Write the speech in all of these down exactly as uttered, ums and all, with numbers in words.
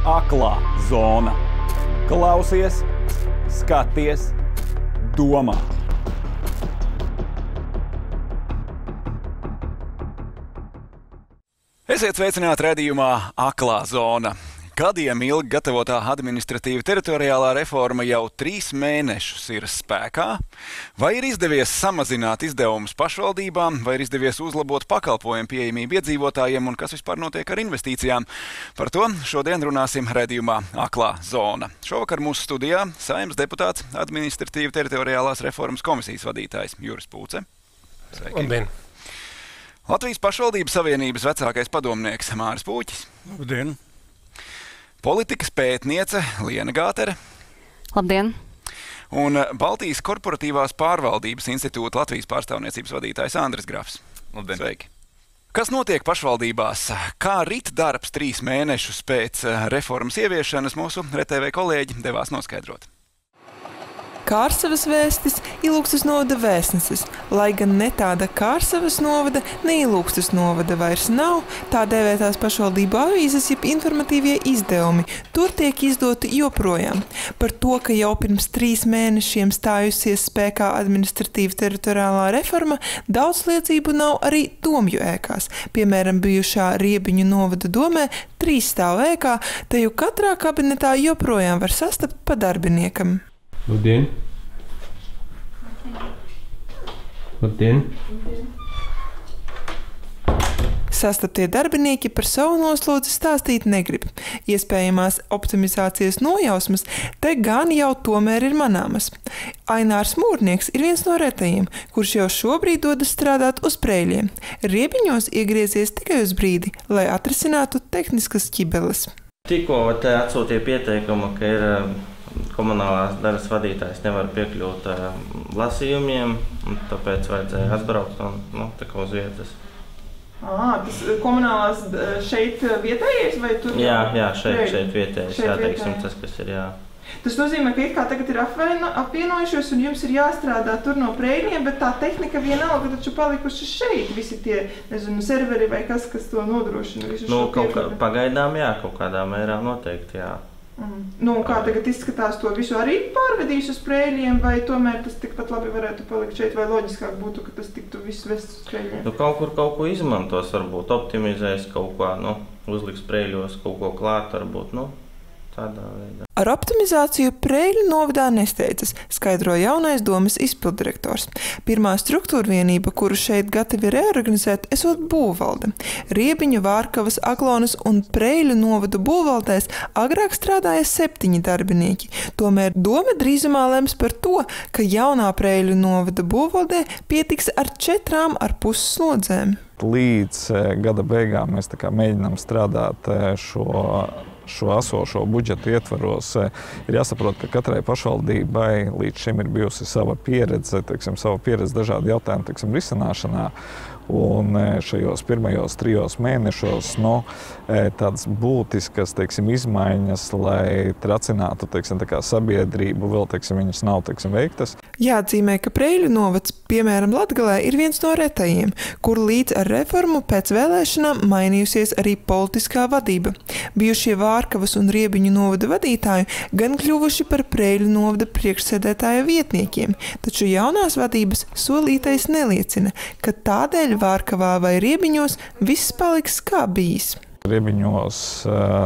Aklā zona. Klausies, skaties, domā. Esiet sveicināti redzījumā Aklā zona. Gadiem ilgi gatavotā administratīva teritoriālā reforma jau trīs mēnešus ir spēkā. Vai ir izdevies samazināt izdevumus pašvaldībām, vai ir izdevies uzlabot pakalpojumu pieejamību iedzīvotājiem un kas vispār notiek ar investīcijām? Par to šodien runāsim redzījumā Aklā zona. Šovakar mūsu studijā Saeimas deputāts, administratīva teritoriālās reformas komisijas vadītājs Juris Pūce. Sveiki. Labdien. Latvijas pašvaldības savienības vecākais padomnieks Māris Pūķis. Labdien. Politikas pētniece Liena Gātere. Labdien! Un Baltijas korporatīvās pārvaldības institūta Latvijas pārstāvniecības vadītājs Andris Grafs. Labdien! Sveiki! Kas notiek pašvaldībās? Kā rit darbs trīs mēnešus pēc reformas ieviešanas mūsu R T V kolēģi devās noskaidrot. Kārsavas vēstis Ilūgstes novada vēstnesis, lai gan ne tāda Kārsavas novada, ne Ilūgstes novada vairs nav, tā dēvētās pašvaldību avīzes jeb informatīvie izdevumi. Tur tiek izdoti joprojām. Par to, ka jau pirms trīs mēnešiem stājusies spēkā administratīva teritoriālā reforma, daudz liecību nav arī domju ēkās. Piemēram, bijušā Riebiņu novada domē trīs stāv ēkā, te jau katrā kabinetā joprojām var sastapt pa darbiniekam. Labdien! Labdien! Sastaptie darbinieki par savu noslodzi stāstīt negrib. Iespējamās optimizācijas nojausmas te gan jau tomēr ir manāmas. Ainārs Mūrnieks ir viens no retajiem, kurš jau šobrīd dodas strādāt uz Preiļiem. Riebiņos iegriezies tikai uz brīdi, lai atrisinātu tehniskas ķibeles. Tikko te atsūtīja pieteikumu, ka ir komunālās daļas vadītājs nevar piekļūt uh, lasījumiem, un tāpēc vajadzēja atbraukt un, nu, tā kā uz vietas. Ā, tas komunālās šeit vietējais vai tur? Jā, jā, šeit, šeit vietējais, jā, teiksim, tas, kas ir, jā. Tas nozīmē, ka it kā tagad ir apvieno, apvienojušies un jums ir jāstrādā tur no Preiļiem, bet tā tehnika vienalga taču palikuši šeit, visi tie, nezinu, serveri vai kas, kas to nodrošina visu nu, šo piekļuvi? Pagaidām, jā, kaut kādā mērā noteikti, jā. Mm. Nu, kā tagad izskatās, to visu arī pārvedīs uz Preiļiem, vai tomēr tas tikpat labi varētu palikt šeit, vai loģiskāk būtu, ka tas tiktu viss vests uz Preiļiem? Nu, kaut kur kaut ko izmantos, varbūt optimizēs kaut ko, nu, uzliks Preiļos kaut ko klāt, varbūt, nu, tādā veidā. Ar optimizāciju Preiļu novadā nesteidzas, skaidro jaunais domes izpilddirektors. Pirmā struktūra vienība, kuru šeit gatavi reorganizēt, esot būvvalde. Riebiņu, Vārkavas, Aglonas un Preiļu novadu būvvaldēs agrāk strādāja septiņi darbinieki. Tomēr dome drīzumā lems par to, ka jaunā Preiļu novada būvvaldē pietiks ar četrām ar pus slodzēm. Līdz gada beigām mēs tā kā mēģinām strādāt šo šo esošo budžetu ietvaros. Ir jāsaprot, ka katrai pašvaldībai līdz šim ir bijusi sava pieredze, teiksim, sava pieredze dažādu jautājumu, teiksim, risināšanā. Un šajos pirmajos trijos mēnešos, nu, tādas būtiskas, teiksim, izmaiņas, lai tracinātu, teiksim, tā kā sabiedrību, vēl, teiksim, viņas nav, teiksim, veiktas. Jāatzīmē, ka Preiļu novads, piemēram, Latgalē, ir viens no retajiem, kur līdz ar reformu pēc vēlēšanām mainījusies arī politiskā vadība. Bijušie Vārkavas un Riebiņu novada vadītāji gan kļuvuši par Preiļu novada priekšsēdētāja vietniekiem, taču jaunās vadības solītais neliecina, ka tādēļ Vārkavā vai Riebiņos viss paliks kā bijis. Riebiņos,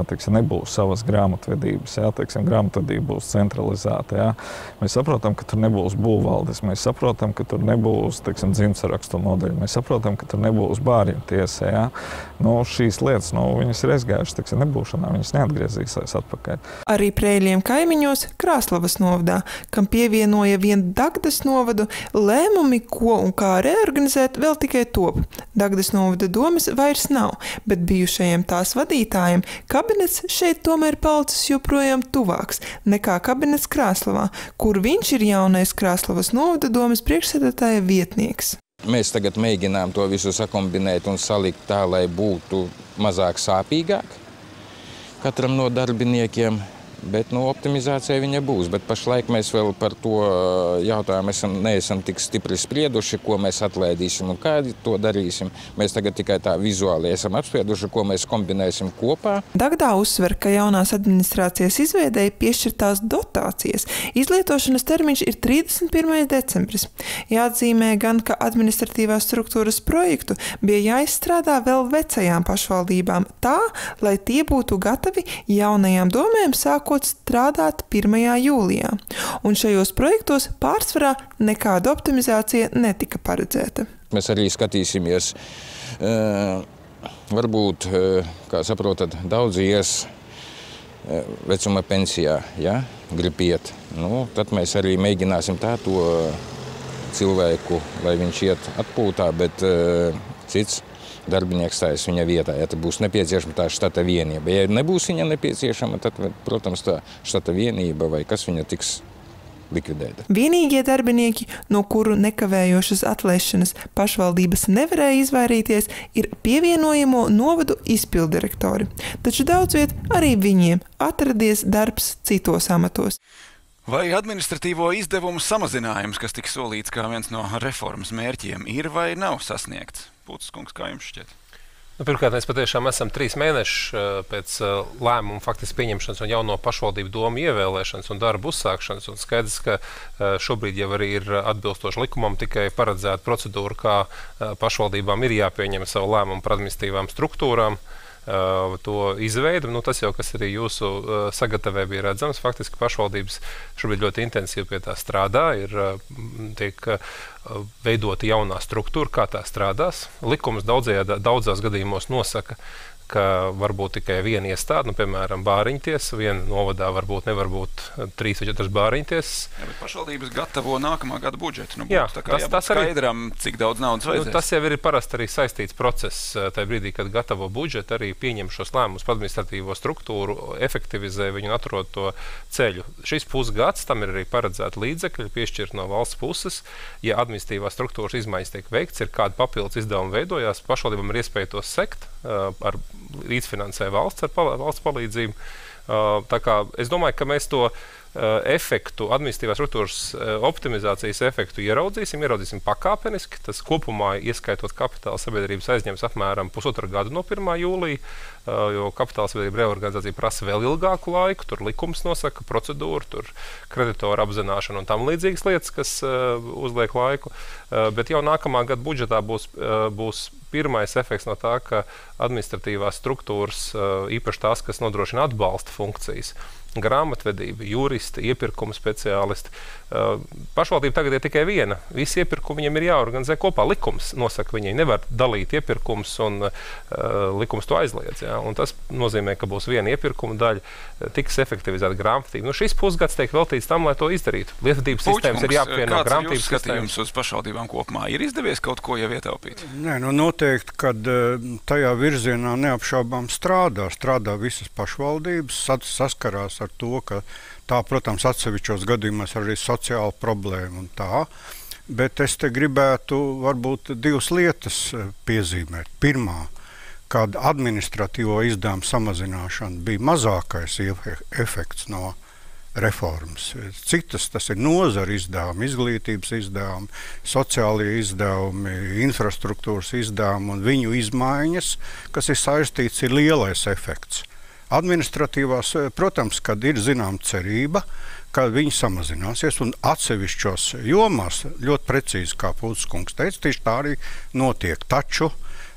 teiksim, nebūs savas grāmatvedības, jā, teiksim, grāmatvedība būs centralizēta, jā. Mēs saprotam, ka tur nebūs būvvaldes, mēs saprotam, ka tur nebūs, teiksim, dzimtsarakstu nodaļa, mēs saprotam, ka tur nebūs bārļu tiesa, jā. Nu, šīs lietas, nu, viņas ir aizgājušas, teiksim, nebūšanā, viņas neatgriezīsies atpakaļ. Arī Preiļiem kaimiņos Krāslavas novadā, kam pievienoja vien Dagdas novadu, lēmumi, ko un kā reorganizēt, vēl tikai top. Dagdas novada domes vairs nav, bet bijušajiem tās vadītājiem kabinets šeit tomēr palicis joprojām tuvāks nekā kabinets Krāslavā, kur viņš ir jaunais Krāslavas novada domes priekšsēdētāja vietnieks. Mēs tagad mēģinām to visu sakombinēt un salikt tā, lai būtu mazāk sāpīgāk katram no darbiniekiem. Bet nu, optimizācija viņa būs. Bet pašlaik mēs vēl par to jautājumu esam, neesam tik stipri sprieduši, ko mēs atlaidīsim un kā to darīsim. Mēs tagad tikai tā vizuāli esam apsprieduši, ko mēs kombinēsim kopā. Dagdā uzsver, ka jaunās administrācijas izveidēja piešķirtās dotācijas. Izlietošanas termiņš ir trīsdesmit pirmais decembris. Jāatzīmē gan, ka administratīvās struktūras projektu bija jāizstrādā vēl vecajām pašvaldībām tā, lai tie būtu gatavi jaunajām domēm sākot strādāt pirmajā jūlijā. Un šajos projektos pārsvarā nekāda optimizācija netika paredzēta. Mēs arī skatīsimies, uh, varbūt, uh, kā saprotat, daudzi ies uh, vecuma pensijā, ja, grib iet. Nu, tad mēs arī mēģināsim tā to cilvēku, lai viņš iet atpūtā, bet uh, cits darbinieks stājas viņa vietā, ja tad būs nepieciešama tā štata vienība. Ja nebūs viņa nepieciešama, tad, protams, tā štata vienība vai kas viņa tiks likvidēta. Vienīgie darbinieki, no kuru nekavējošas atlaišanas pašvaldības nevarēja izvairīties, ir pievienojamo novadu izpildirektori. Taču daudz viet arī viņiem atradies darbs citos amatos. Vai administratīvo izdevumu samazinājums, kas tika solīts kā viens no reformas mērķiem, ir vai nav sasniegts? Pūtis kungs, kā jums šķiet? Nu, pirmkārt, mēs patiešām esam trīs mēneši pēc lēmumu faktiski pieņemšanas un jauno pašvaldību domu ievēlēšanas un darbu uzsākšanas. Un skaidrs, ka šobrīd jau arī ir atbilstoši likumam tikai paredzēta procedūra, kā pašvaldībām ir jāpieņem savu lēmumu par administratīvām struktūrām. To izveidu. Nu, tas jau, kas arī jūsu sagatavē bija redzams, faktiski pašvaldības šobrīd ļoti intensīvi pie tā strādā, ir tiek veidota jaunā struktūra, kā tā strādās. Likums daudzajā, daudzās gadījumos nosaka, ka varbūt tikai viena iestāde, nu, piemēram, bāriņtiesa, viena novadā varbūt nevar būt trīs vai četras bāriņtiesas. Jā, bet pašvaldības gatavo nākamā gada budžetu. Nu, Jā, tā kā tas, tas skaidram, arī, cik daudz naudas vajadzēs. Nu, tas jau ir parasti arī saistīts process. Tajā brīdī, kad gatavo budžetu, arī pieņem šos lēmumus par administratīvo struktūru, efektivizē viņu un atrod to ceļu. Šis pusgads, tam ir arī paredzēta līdzekļi, piešķirt no valsts puses. Ja administratīvās struktūras izmaiņas tiek veikts, ir kāda papildus izdevuma veidojās, pašvaldībām ir iespēja to sekt uh, ar līdzfinansē valsts ar pal valsts palīdzību. Uh, tā kā es domāju, ka mēs to uh, efektu, administratīvās struktūras uh, optimizācijas efektu ieraudzīsim, ieraudzīsim pakāpeniski. Tas kopumā, ieskaitot kapitāla sabiedrības aizņems apmēram pusotru gadu no pirmā jūlija, uh, jo kapitāla sabiedrība reorganizācija prasa vēl ilgāku laiku, tur likums nosaka procedūru, tur kreditoru apzināšana un tam līdzīgas lietas, kas uh, uzliek laiku. Uh, bet jau nākamā gada budžetā būs, uh, būs pirmais efekts no tā, ka administratīvās struktūras, īpaši tās, kas nodrošina atbalsta funkcijas, grāmatvedība, juristi, iepirkuma speciālisti. Pašvaldība tagad ir tikai viena. Visi iepirkumi viņiem ir jāorganizē kopā. Likums nosaka, viņai nevar dalīt iepirkums un uh, likums to aizliedz. Ja? Un tas nozīmē, ka būs viena iepirkuma daļa, tiks efektivizēta grāmatvedība. Nu, šis pusgads tiek veltīts tam, lai to izdarītu. Lietvedības sistēmas ir jāapvieno grāmatvedības sistēmas. Kāds ir jūsu skatījums uz pašvaldībām kopumā? Ir izdevies kaut ko jau ietaupīt? Nē, nu noteikti, kad tajā virzienā neapšaubām strādā. Strādā visas pašvaldības, saskarās ar to, ka tā, protams, atsevišķos gadījumos arī sociāla problēma un tā, bet es te gribētu varbūt divas lietas piezīmēt. Pirmā, kad administratīvo izdevumu samazināšana bija mazākais efekts no reformas. Citas tas ir nozara izdevumi, izglītības izdevumi, sociālie izdevumi, infrastruktūras izdevumi un viņu izmaiņas, kas ir saistīts, ir lielais efekts. Administratīvās, protams, kad ir zinām cerība, ka viņi samazināsies un atsevišķos jomās, ļoti precīzi, kā Pūtis kungs teica, tieši tā arī notiek. Taču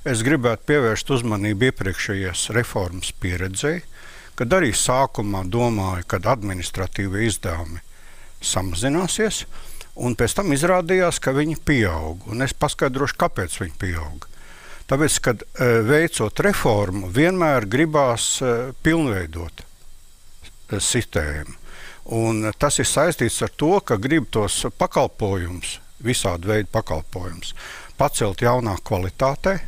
es gribētu pievērst uzmanību iepriekšējās reformas pieredzei, kad arī sākumā domāju, kad administratīvi izdevumi samazināsies, un pēc tam izrādījās, ka viņi pieaug. Un es paskaidrošu, kāpēc viņi pieaug. Tāpēc, kad veicot reformu, vienmēr gribās pilnveidot sistēmu. Un tas ir saistīts ar to, ka grib tos pakalpojumus, visādi veidu pakalpojumus, pacelt jaunā kvalitātē.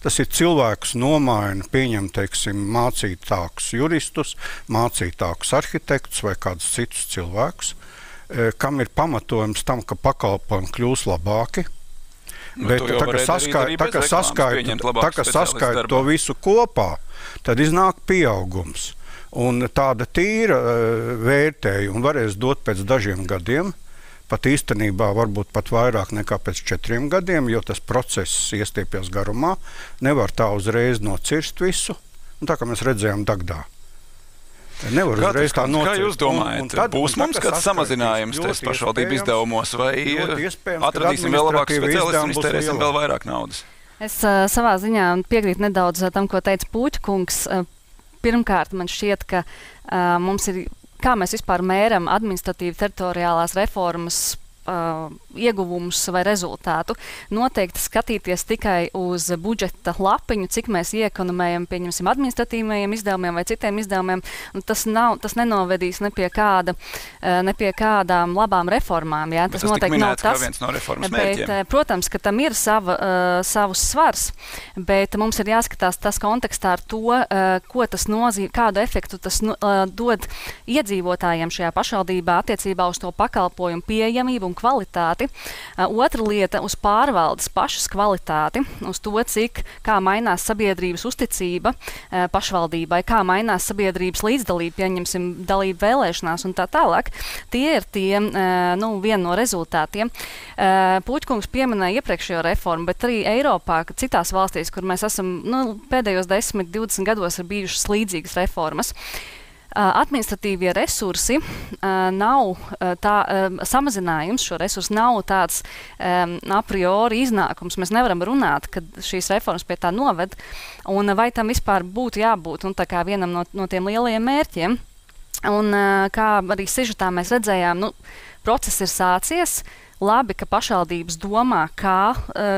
Tas ir cilvēks nomaina, pieņem, teiksim, mācītākus juristus, mācītākus arhitektus vai kādus citus cilvēkus, kam ir pamatojums tam, ka pakalpojumi kļūs labāki. Nu, bet tā, ka saskait, tā, ka saskait, tā, ka saskait to visu kopā, tad iznāk pieaugums. Un tāda tīra vērtējuma varēs dot pēc dažiem gadiem, pat īstenībā varbūt pat vairāk nekā pēc četriem gadiem, jo tas process iestiepjas garumā, nevar tā uzreiz nocirst visu, un tā kā mēs redzējām Dagdā. Nevar uzreiz tā nocirst. Kā jūs domājat, un, un tad, būs mums kāds samazinājums tes pašvaldību izdevumos, vai atradīsim vēl labākus speciālistus un iztērēsim vēl vairāk naudas? Es uh, savā ziņā piekrītu nedaudz tam, ko teica Puķkungs. Uh, Pirmkārt, man šķiet, ka uh, mums ir, kā mēs vispār mēram administratīvi teritoriālās reformas uh, ieguvumus vai rezultātu. Noteikti skatīties tikai uz budžeta lapiņu, cik mēs iekonomējam, pieņemsim, administratīvajiem izdevumiem vai citiem izdevumiem, un tas, nav, tas nenovedīs ne pie, kāda, ne pie kādām labām reformām. Jā. Tas, tas noteikti minēts, nav tas, viens no reformas bet, mērķiem. Protams, ka tam ir sava, uh, savus svars, bet mums ir jāskatās tas kontekstā ar to, uh, ko tas nozīmē, kādu efektu tas uh, dod iedzīvotājiem šajā pašvaldībā attiecībā uz to pakalpojumu pieejamību un kvalitāti. Otra lieta uz pārvaldes pašas kvalitāti, uz to, cik, kā mainās sabiedrības uzticība pašvaldībai, kā mainās sabiedrības līdzdalība, pieņemsim dalību vēlēšanās un tā tālāk. Tie ir tie, nu, viena no rezultātiem. Puķkungs pieminēja iepriekšējo reformu, bet arī Eiropā, citās valstīs, kur mēs esam, nu, pēdējos desmit, divdesmit gados ir bijušas līdzīgas reformas. Administratīvie resursi uh, nav uh, tā, uh, samazinājums, šo resursu nav tāds um, a priori iznākums. Mēs nevaram runāt, ka šīs reformas pie tā noved, un vai tam vispār būtu jābūt un tā kā vienam no, no tiem lielajiem mērķiem. Un uh, kā arī sižetā mēs redzējām, nu, process ir sācies. Labi, ka pašvaldības domā, kā,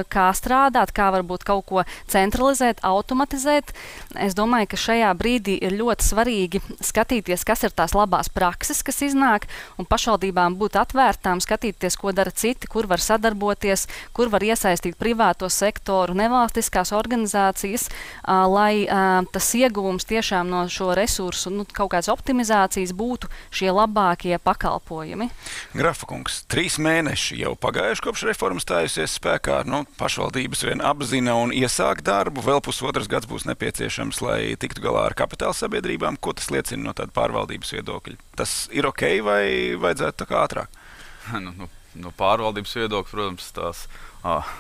kā strādāt, kā varbūt kaut ko centralizēt, automatizēt. Es domāju, ka šajā brīdī ir ļoti svarīgi skatīties, kas ir tās labās prakses, kas iznāk, un pašvaldībām būt atvērtām, skatīties, ko dara citi, kur var sadarboties, kur var iesaistīt privāto sektoru, nevalstiskās organizācijas, lai tas ieguvums tiešām no šo resursu, nu, kaut kādas optimizācijas būtu šie labākie pakalpojumi. Grafa kungs, trīs mēneši jau pagājuši kopš reformas stājusies spēkā. Nu, pašvaldības vien apzina un iesāk darbu. Vēl pusotrs gads būs nepieciešams, lai tiktu galā ar kapitāla sabiedrībām. Ko tas liecina no tāda pārvaldības viedokļa? Tas ir ok vai vajadzētu tā kā ātrāk? Nu, nu, no pārvaldības viedokļa, protams, tās ah,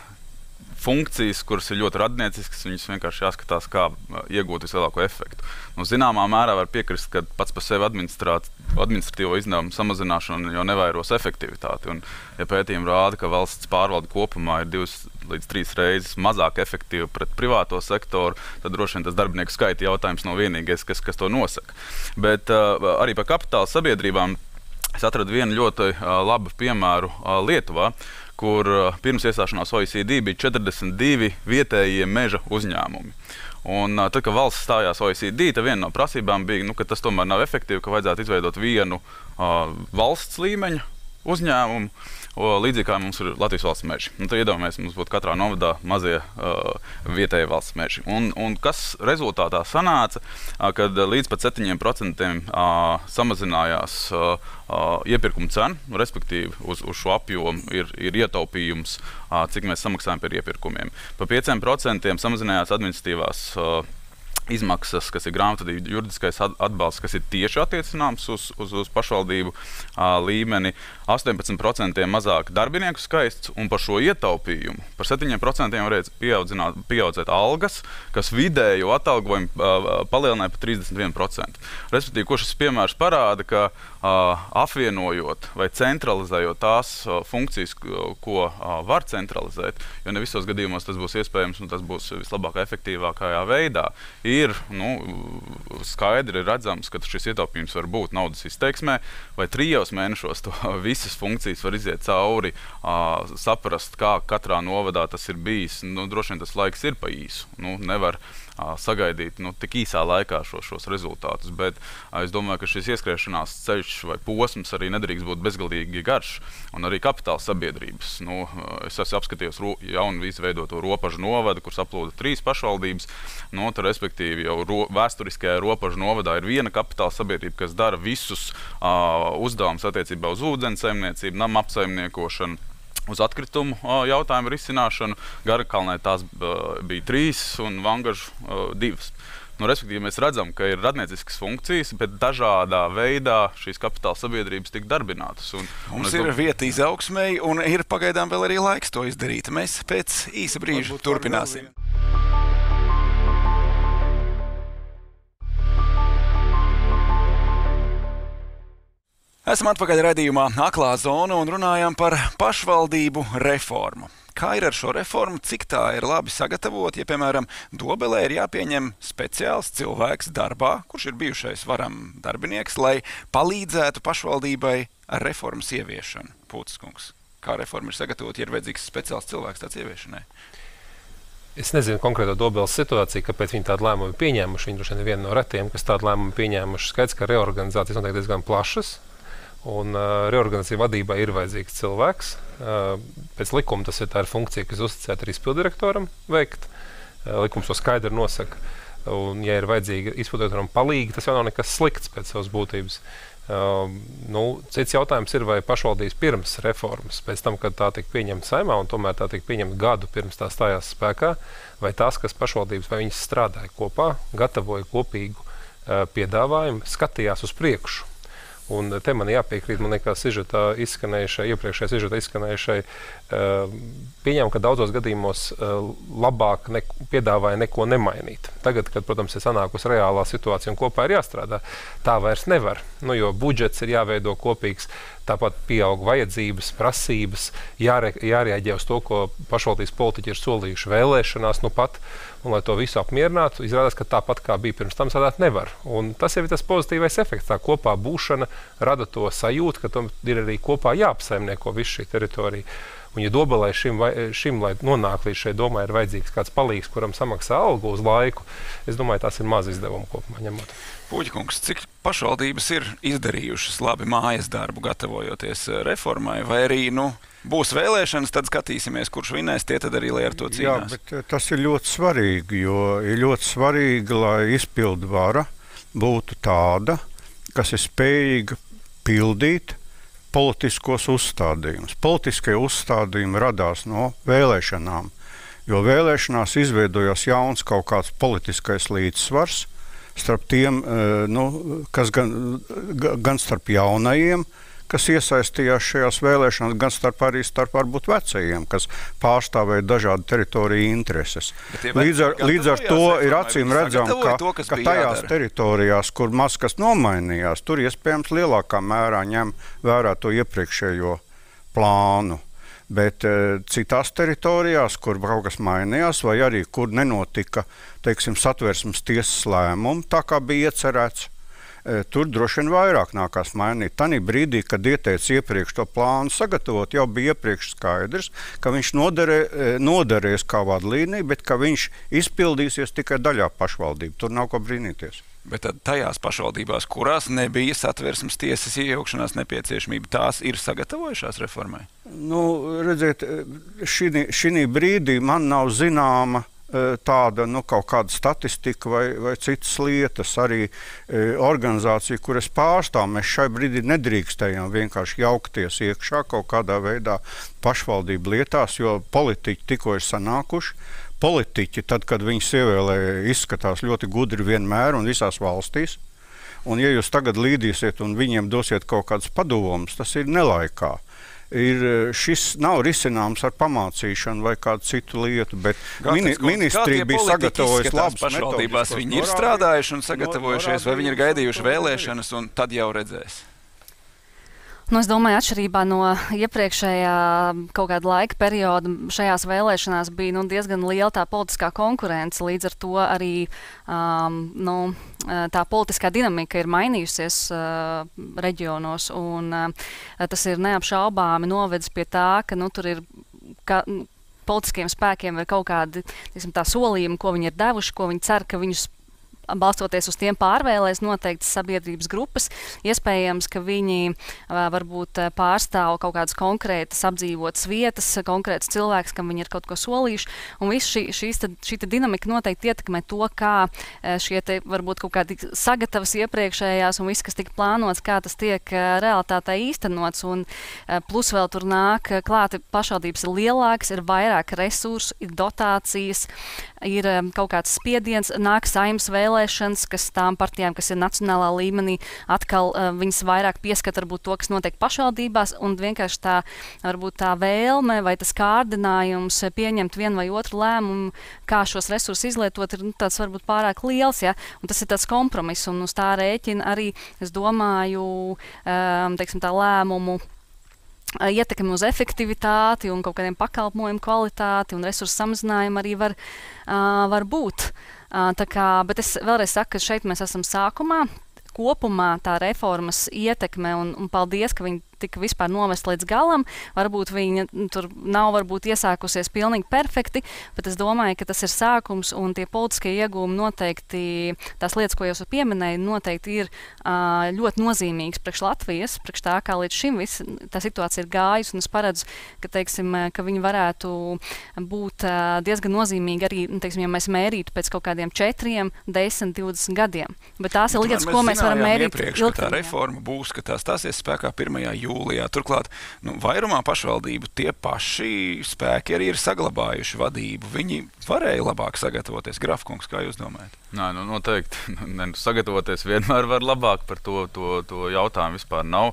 funkcijas, kuras ir ļoti radnieciskas, viņas vienkārši jāskatās, kā iegūt vislielāko efektu. Nu, zināmā mērā var piekrist, ka pats par sevi administratīvo izdevumu samazināšanu jau nevairos efektivitāti. Un, ja pētījumi rāda, ka valsts pārvalde kopumā ir divas līdz trīs reizes mazāk efektīva pret privāto sektoru, tad droši vien tas darbinieku skaita jautājums nav vienīgais, kas, kas to nosaka. Bet uh, arī par kapitāla sabiedrībām es atradu vienu ļoti uh, labu piemēru uh, Lietuvā, kur uh, pirms iestāšanās O E C D bija četrdesmit divi vietējie meža uzņēmumi. Un uh, tad, kad valsts stājās O E C D, tad viena no prasībām bija, nu, ka tas tomēr nav efektīvi, ka vajadzētu izveidot vienu uh, valsts līmeņa uzņēmumu, o, līdzīgi kā mums ir Latvijas valsts meži. Un tad iedomājamies, mums būtu katrā novadā mazie uh, vietēji valsts meži. Un, un kas rezultātā sanāca, uh, kad līdz pat septiņiem procentiem uh, samazinājās uh, uh, iepirkuma cena, respektīvi uz, uz šo apjomu ir, ir ietaupījums, uh, cik mēs samaksājam par iepirkumiem. Pa pieciem procentiem samazinājās administratīvās uh, izmaksas, kas ir grāmatvedība, juridiskais atbalsts, kas ir tieši attiecināms uz, uz, uz pašvaldību uh, līmeni, astoņpadsmit procenti mazāk darbinieku skaists, un par šo ietaupījumu par septiņiem procentiem varēja pieaudzēt algas, kas vidējo atalgojumu uh, palielināja par trīsdesmit vienu procentu. Respektīvi, ko šis piemērs parāda, ka uh, apvienojot vai centralizējot tās uh, funkcijas, ko uh, var centralizēt, jo ne visos gadījumos tas būs iespējams un tas būs vislabākā, efektīvākajā veidā, ir nu, skaidri redzams, ka šis ietaupījums var būt naudas izteiksmē, vai trijos mēnešos to visas funkcijas var iziet cauri, uh, saprast, kā katrā novadā tas ir bijis. Nu, droši vien tas laiks ir pa īsu. Nu, nevar uh, sagaidīt nu, tik īsā laikā šo, šos rezultātus, bet uh, es domāju, ka šis ieskriešanās ceļš vai posms arī nedrīkst būt bezgalīgi garš, un arī kapitāla sabiedrības. Nu, es esmu apskatījos ro, jaunu izveidoto Ropažu novadu, kur saplūda trīs pašvaldības, nu, tad, respektīvi jau ro, vēsturiskajā Ropažu novadā ir viena kapitāla sabiedrība, kas dara visus uh, uzdevumus attiecībā uz ūdens saimniecību, nama apsaimniekošanu, uz atkritumu uh, jautājumu risināšanu. Garakalnē tās uh, bija trīs un Vangažu uh, divas. Nu, respektīvi, mēs redzam, ka ir radnieciskas funkcijas, bet dažādā veidā šīs kapitāla sabiedrības tiek darbinātas. Un, Mums un ir domāju, vieta izaugsmei, un ir pagaidām vēl arī laiks to izdarīt. Mēs pēc īsa brīža Varbūt turpināsim. Esam atpakaļ raidījumā Aklā zona un runājam par pašvaldību reformu. Kā ir ar šo reformu, cik tā ir labi sagatavot, ja, piemēram, Dobelē ir jāpieņem speciāls cilvēks darbā, kurš ir bijušais varam darbinieks, lai palīdzētu pašvaldībai ar reformas ieviešanu? Pūtis kungs, kā reforma ir sagatavot, ja ir vajadzīgs speciāls cilvēks tāds ieviešanai? Es nezinu konkrēto Dobeles situāciju, kāpēc viņi tādu lēmumu pieņēmuši. Viņi droši vien ir viena no retiem, kas tādu lēmumu pieņēmuši. Skaidrs, ka reorganizācijas noteikti diezgan plašas. Un uh, reorganizācija vadībai ir vajadzīgs cilvēks. Uh, pēc likuma tas ir tā ir funkcija, kas uzticēta arī izpildirektoram veikt. Uh, likums to skaidri nosaka. Un, ja ir vajadzīga izpildirektoram palīgi, tas jau nav nekas slikts pēc savas būtības. Uh, nu, cits jautājums ir, vai pašvaldības pirms reformas, pēc tam, kad tā tika pieņemta Saeimā, un tomēr tā tika pieņemta gadu pirms tā stājās spēkā, vai tās, kas pašvaldības, vai viņas strādāja kopā, gatavoja kopīgu uh, piedāvājumu, skatījās uz priekšu. Un te man jāpiekrīt, man liekas, sižetā izskanējušai, iepriekšējā sižetā izskanējušai, uh, pieņem, ka daudzos gadījumos uh, labāk ne, piedāvāja neko nemainīt. Tagad, kad, protams, ir sanākusi reālā situācija un kopā ir jāstrādā, tā vairs nevar. Nu, jo budžets ir jāveido kopīgs, tāpat pieaug vajadzības, prasības, jāre, jārēģē uz to, ko pašvaldības politiķi ir solījuši vēlēšanās nu pat. Un, lai to visu apmierinātu, izrādās, ka tāpat kā bija pirms tam, strādāt nevar. Un tas jau ir tas pozitīvais efekts. Tā kopā būšana rada to sajūtu, ka tam ir arī kopā jāapsaimnieko visu šī teritorija. Un, ja Dobelē šim, šim, lai nonāk līdz šai domai, ir vajadzīgs kāds palīgs, kuram samaksā algu uz laiku, es domāju, tās ir maz izdevumi kopumā ņemot. Puķkungs, cik pašvaldības ir izdarījušas labi mājas darbu, gatavojoties reformai, vai arī, nu, būs vēlēšanas, tad skatīsimies, kurš vinēs, tie tad arī, lai ar to cīnās. Jā, bet tas ir ļoti svarīgi, jo ir ļoti svarīgi, lai izpildu vara būtu tāda, kas ir spējīga pildīt politiskos uzstādījumus. Politiskie uzstādījumi radās no vēlēšanām, jo vēlēšanās izveidojās jauns kaut kāds politiskais līdzsvars starp tiem, nu, kas gan, gan starp jaunajiem, kas iesaistījās šajās vēlēšanās, gan starp arī starp varbūt vecajiem, kas pārstāvēja dažādu teritoriju intereses. Līdz ar, līdz ar to ir acīm redzam, ka, to, ka tajās jādara. Teritorijās, kur maz kas nomainījās, tur iespējams lielākā mērā ņem vērā to iepriekšējo plānu. Bet e, citās teritorijās, kur kaut kas mainījās, vai arī kur nenotika, teiksim, satversmes tiesas lēmumu, tā kā bija iecerēts, e, tur droši vien vairāk nākās mainīt. Tanī brīdī, kad ieteica iepriekš to plānu sagatavot, jau bija iepriekš skaidrs, ka viņš noderē, e, noderēs kā vadlīnija, bet ka viņš izpildīsies tikai daļā pašvaldību. Tur nav ko brīnīties. Bet tad tajās pašvaldībās, kurās nebija satversmes tiesas iejaukšanās nepieciešamība, tās ir sagatavojušās reformai? Nu, redziet, šī, šī brīdī man nav zināma tāda, nu, kaut kāda statistika vai, vai citas lietas. Arī e, organizācija, kur es pārstāvu, mēs šai brīdī nedrīkstējām vienkārši jaukties iekšā kaut kādā veidā pašvaldību lietās, jo politiķi tikko ir sanākuši. Politiķi, tad, kad viņus ievēlēja, izskatās ļoti gudri vienmēr un visās valstīs. Un ja jūs tagad līdīsiet un viņiem dosiet kaut kādus padomus, tas ir nelaikā. Ir, šis nav risināms ar pamācīšanu vai kādu citu lietu, bet mini, ministrija bija sagatavojusi labus pašvaldībās. Viņi ir strādājuši un sagatavojušies, vai viņi ir gaidījuši vēlēšanas un tad jau redzēs? Nu, es domāju, atšķirībā no iepriekšējā kaut kāda laika perioda, šajās vēlēšanās bija nu, diezgan liela tā politiskā konkurence. Līdz ar to arī um, nu, tā politiskā dinamika ir mainījusies uh, reģionos. Un, uh, tas ir neapšaubāmi novedis pie tā, ka nu, tur ir ka, politiskiem spēkiem ir kaut kādi tiksim, tā solījumi, ko viņi ir devuši, ko viņi cer, ka viņus balstoties uz tiem pārvēlēs noteiktas sabiedrības grupas. Iespējams, ka viņi varbūt pārstāv kaut kādas konkrētas apdzīvotas vietas, konkrētas cilvēks, kam viņi ir kaut ko solījuši. Un viss šī, šīs, tad, šī dinamika noteikti ietekmē to, kā šie te varbūt kaut kādi sagatavas iepriekšējās un viss, kas tika plānots, kā tas tiek realitātē īstenots. Un plus vēl tur nāk klāti pašvaldības ir lielākas, ir vairāk resursu, ir dotācijas, ir kaut kāds spiediens, nāk Saeimas vēlēšanas. vēlēšanas, kas tām partijām, kas ir nacionālā līmenī, atkal uh, viņas vairāk pieskat varbūt to, kas notiek pašvaldībās, un vienkārši tā, varbūt tā vēlme vai tas kārdinājums pieņemt vienu vai otru lēmumu, kā šos resursus izlietot, ir nu, tāds varbūt pārāk liels, ja? Un tas ir tāds kompromiss, un uz tā rēķina arī, es domāju, um, teiksim, tā lēmumu ietekmi uz efektivitāti un kaut kādiem pakalpojumu kvalitāti un resursu samazinājumu arī var, uh, var būt. Uh, tā kā, bet es vēlreiz saku, ka šeit mēs esam sākumā. Kopumā tā reformas ietekme, un, un paldies, ka viņi tika vispār novest līdz galam. Varbūt viņa tur nav varbūt iesākusies pilnīgi perfekti, bet es domāju, ka tas ir sākums, un tie politiskie iegūmi noteikti, tās lietas, ko jūs pieminēju, noteikti ir uh, ļoti nozīmīgas priekš Latvijas, priekš tā, kā līdz šim viss tā situācija ir gājusi, un es paredzu, ka, teiksim, ka viņi varētu būt uh, diezgan nozīmīgi arī, teiksim, ja mēs mērītu pēc kaut kādiem četriem, desmit, divdesmit gadiem. Bet tās ir lietas, ko mēs varam mērīt iepriekš, ka tā reforma būs, ka tā stāsies spēkā pirmajā jūlijā. Turklāt, nu, vairumā pašvaldību tie paši spēki arī ir saglabājuši vadību. Viņi varēja labāk sagatavoties. Grafkungs, kā jūs domājat? Nē, nu, noteikti. Ne, nu, sagatavoties vienmēr var labāk, par to, to, to jautājumu vispār nav.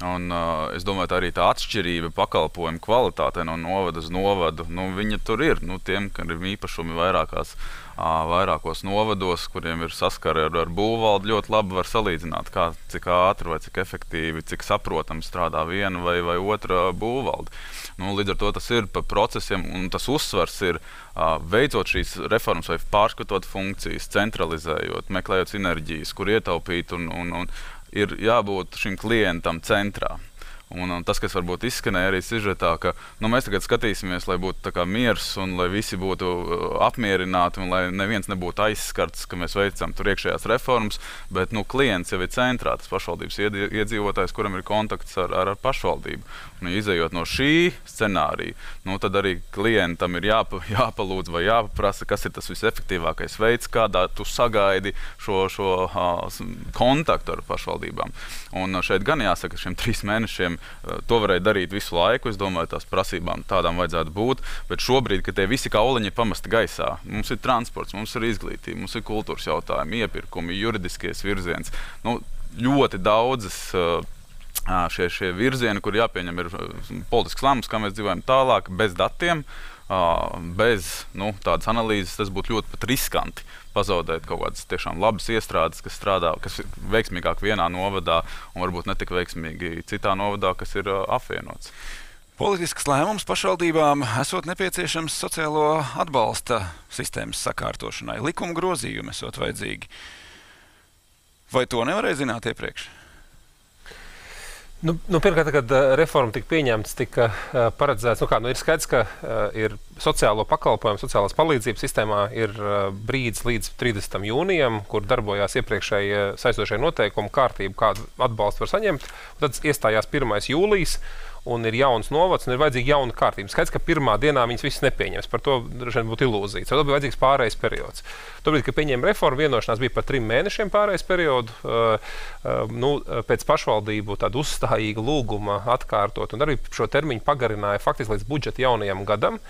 Un, uh, es domāju, tā arī tā atšķirība pakalpojumu kvalitātē no novada uz novadu, nu, viņa tur ir. Nu, tiem, kad ir īpašumi vairākās, uh, vairākos novados, kuriem ir saskara ar, ar būvvaldi, ļoti labi var salīdzināt, kā, cik ātri vai cik efektīvi, cik saprotami strādā viena vai, vai otra būvvalde. Nu, līdz ar to tas ir pa procesiem, un tas uzsvars ir uh, veicot šīs reformas vai pārskatot funkcijas, centralizējot, meklējot sinerģijas, kur ietaupīt un, un, un ir jābūt šim klientam centrā. Un, un tas, kas varbūt izskanēja arī sižetā, ka nu, mēs tagad skatīsimies, lai būtu tā kā miers un lai visi būtu uh, apmierināti un lai neviens nebūtu aizskarts, ka mēs veicam tur iekšējās reformas, bet nu, klients jau ir centrā, tas pašvaldības iedzīvotājs, kuram ir kontakts ar, ar, ar pašvaldību. Un, izejot no šī scenārija, nu, tad arī klientam ir jāpa, jāpalūdz vai jāpaprasa, kas ir tas visefektīvākais veids, kādā tu sagaidi šo, šo uh, kontaktu ar pašvaldībām. Un uh, šeit gan jāsaka, šiem trīs mēnešiem to varēja darīt visu laiku. Es domāju, tās prasībām tādām vajadzētu būt. Bet šobrīd, kad tie visi kauliņi ir pamesti gaisā, mums ir transports, mums ir izglītība, mums ir kultūras jautājumi, iepirkumi, juridiskies virziens. Nu, ļoti daudzas šie, šie virzieni, kur jāpieņem ir politisks lēmums, kā mēs dzīvojam tālāk, bez datiem, bez nu, tādas analīzes, tas būtu ļoti pat riskanti. Pazaudēt kaut kādas tiešām labas iestrādes, kas strādā, kas ir veiksmīgāk vienā novadā un varbūt ne tik veiksmīgi citā novadā, kas ir uh, apvienots. Politisks lēmums pašvaldībām esot nepieciešams sociālo atbalsta sistēmas sakārtošanai. Likuma grozījumi esot vajadzīgi. Vai to nevarēja zināt iepriekš? Nu, nu, pirmkārt, kad uh, reforma tika pieņemts, tika uh, paredzēts, nu kā, nu ir skaidrs, ka uh, ir sociālo pakalpojumu, sociālās palīdzības sistēmā ir uh, brīdis līdz trīsdesmitam jūnijam, kur darbojās iepriekšēji uh, saistošie noteikumi, kārtība, kādu atbalstu var saņemt. Tad iestājās pirmais jūlijas, un ir jauns novads, un ir vajadzīga jauna kārtība. Skaidrs, ka pirmā dienā viņas visas nepieņems. Par to droši vien būtu ilūzija. Tad bija vajadzīgs pārējais periods. Tobrīd, kad pieņēma reformu, vienošanās bija par trim mēnešiem pārējais periodu. Uh, uh, nu, pēc pašvaldību tādu uzstājīgu lūguma atkārtot, un arī šo termiņu pagarināja faktiski līdz budžeta jaunajam gadam.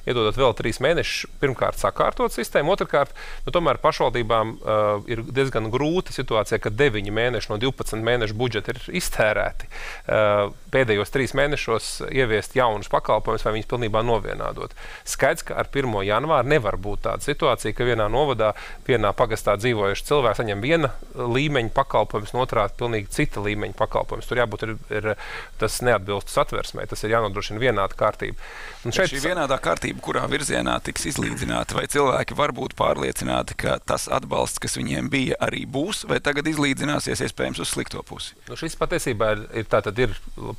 Iedodot vēl trīs mēnešus, pirmkārt sakārtot sistēmu, otrkārt, nu, tomēr pašvaldībām uh, ir diezgan grūta situācija, ka deviņi mēneši no divpadsmit mēnešu budžeta ir iztērēti. Uh, pēdējos trīs mēnešos ieviest jaunus pakalpojumus vai viņus pilnībā novienādot. Skaidrs, ka ar pirmo janvāru nevar būt tāda situācija, ka vienā novadā, vienā pagastā dzīvojuši cilvēki saņem viena līmeņa pakalpojumus, un otrā pilnīgi cita līmeņa pakalpojumus. Tur jābūt ir, ir tas neatbilst satversmē, tas ir jānodrošina vienāda kārtība. Un šeit šī vienādā kārtība, kurā virzienā tiks izlīdzināti, vai cilvēki var būt pārliecināti, ka tas atbalsts, kas viņiem bija, arī būs, vai tagad izlīdzināsies iespējams uz slikto pusi? Nu, šis patiesībā ir, ir tātad ir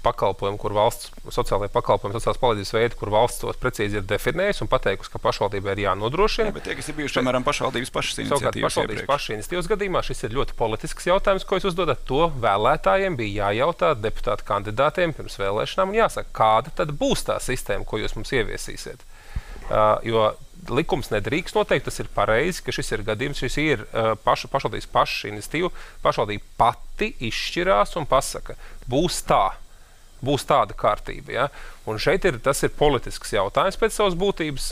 pakalpojumi, kur valsts, sociālajie pakalpojumi, sociālās palīdzības veidi, kur valsts tos precīzi ir definējusi un pateikusi, ka pašvaldībai ir jānodrošina. Jā, bet tie, kas ir bijuši, piemēram, pašvaldības pašas iniciatīvas pašvaldības pašas iniciatīvas gadījumā, šis ir ļoti politisks jautājums, ko jūs uzdodat. To vēlētājiem bija jājautā deputātu kandidātiem pirms vēlēšanām un jāsaka, kāda tad būs tā sistēma, ko jūs mums ieviesīsiet. Uh, jo likums nedrīkst noteikt, tas ir pareizi, ka šis ir gadījums, šis ir uh, paša, pašvaldības paša iniciatīva, pašvaldība pati izšķirās un pasaka, būs tā. būs tāda kārtība. Ja? Un šeit ir, tas ir politisks jautājums pēc savas būtības.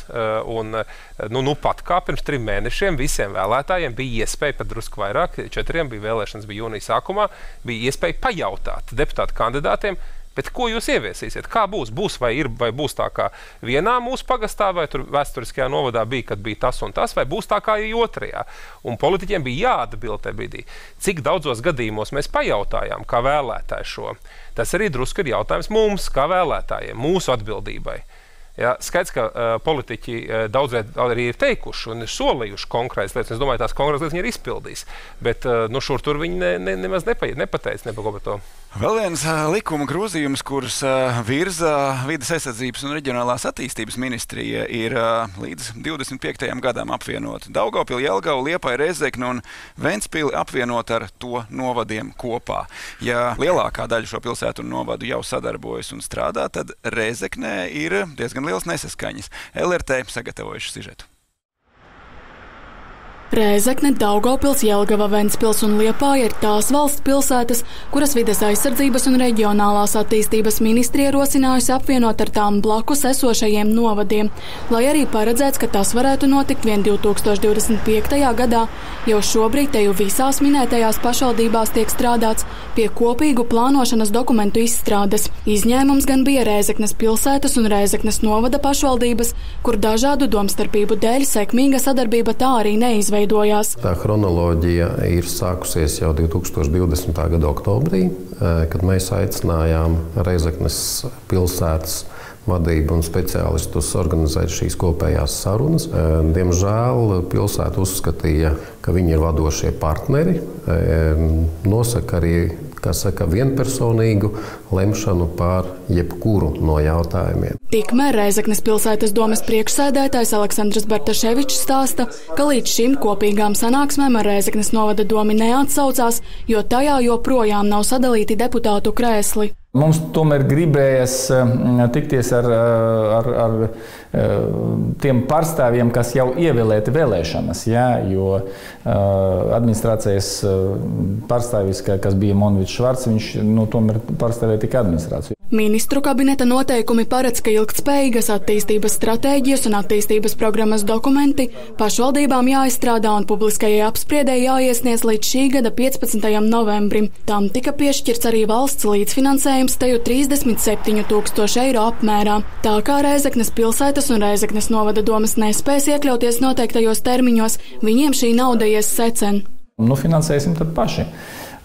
Un, nu, nu pat kā pirms trim mēnešiem visiem vēlētājiem bija iespēja, pat drusku vairāk, četriem bija vēlēšanas, bija jūnija sākumā, bija iespēja pajautāt deputātu kandidātiem, bet ko jūs ieviesīsiet? Kā būs? Būs vai ir, vai būs tā kā vienā mūsu pagastā, vai tur vēsturiskajā novadā bija, kad bija tas un tas, vai būs tā kā otrajā? Un politiķiem bija jāatbild tajā brīdī. Cik daudzos gadījumos mēs pajautājām, kā vēlētāji šo? Tas arī drusku ir jautājums mums, kā vēlētājiem, mūsu atbildībai. Ja, skaidrs, ka uh, politiķi uh, daudzreiz arī ir teikuši un ir solījuši konkrētas lietas. Es domāju, tās konkrētas lietas viņi ir izpildījis. Bet uh, nu, šur tur viņi ne, ne, nemaz nepa, nepateica nepako par to. Vēl viens uh, likuma grozījums, kurus uh, virza Vides aizsardzības un reģionālās attīstības ministrija, ir uh, līdz divdesmit piektajam gadam apvienot Daugavpili, Jelgavu, Liepāju, Rēzekni un Ventspili apvienot ar to novadiem kopā. Ja lielākā daļa šo pilsētu un novadu jau sadarbojas un strādā, tad Rēzeknē ir diezgan liels nesaskaņas. L R T sagatavojuši sižetu. Rēzekne, Daugavpils, Jelgava, Ventspils un Liepāja ir tās valsts pilsētas, kuras Vides aizsardzības un reģionālās attīstības ministrija ierosinājusi apvienot ar tām blakus esošajiem novadiem, lai arī paredzēts, ka tas varētu notikt vien divtūkstoš divdesmit piektajā gadā. Jau šobrīd te jau visās minētajās pašvaldībās tiek strādāts pie kopīgu plānošanas dokumentu izstrādes. Izņēmums gan bija Rēzeknes pilsētas un Rēzeknes novada pašvaldības, kur dažādu domstarpību dēļ sekmīga sadarbība tā arī neizveidojās. Tā chronoloģija ir sākusies jau divtūkstoš divdesmitā gada oktobrī, kad mēs aicinājām Rēzeknes pilsētas vadību un speciālistus organizēt šīs kopējās sarunas. Diemžēl pilsēta uzskatīja, ka viņi ir vadošie partneri, nosaka arī, kā saka, vienpersonīgu lemšanu par jebkuru no jautājumiem. Tikmēr Rēzeknes pilsētas domes priekšsēdētājs Aleksandrs Bartaševičs stāsta, ka līdz šim kopīgām sanāksmēm ar Rēzeknes novada domi neatsaucās, jo tajā joprojām nav sadalīti deputātu krēsli. Mums tomēr gribējas tikties ar, ar, ar tiem pārstāvjiem, kas jau ievēlēti vēlēšanas, jā, jo administrācijas pārstāvis, kas bija Monvičs Švarts, viņš nu, tomēr pārstāvēja tikai administrāciju. Ministru kabineta noteikumi paredz, ka ilgtspējīgas attīstības stratēģijas un attīstības programmas dokumenti pašvaldībām jāizstrādā un publiskajai apspriedē jāiesniedz līdz šī gada piecpadsmitajam novembrim. Tam tika piešķirts arī valsts līdzfinansējums teju trīsdesmit septiņu tūkstošu eiro apmērā. Tā kā Rēzeknes pilsētas un Rēzeknes novada domas nespēs iekļauties noteiktajos termiņos, viņiem šī nauda ies secen. Nu, finansēsim tad paši.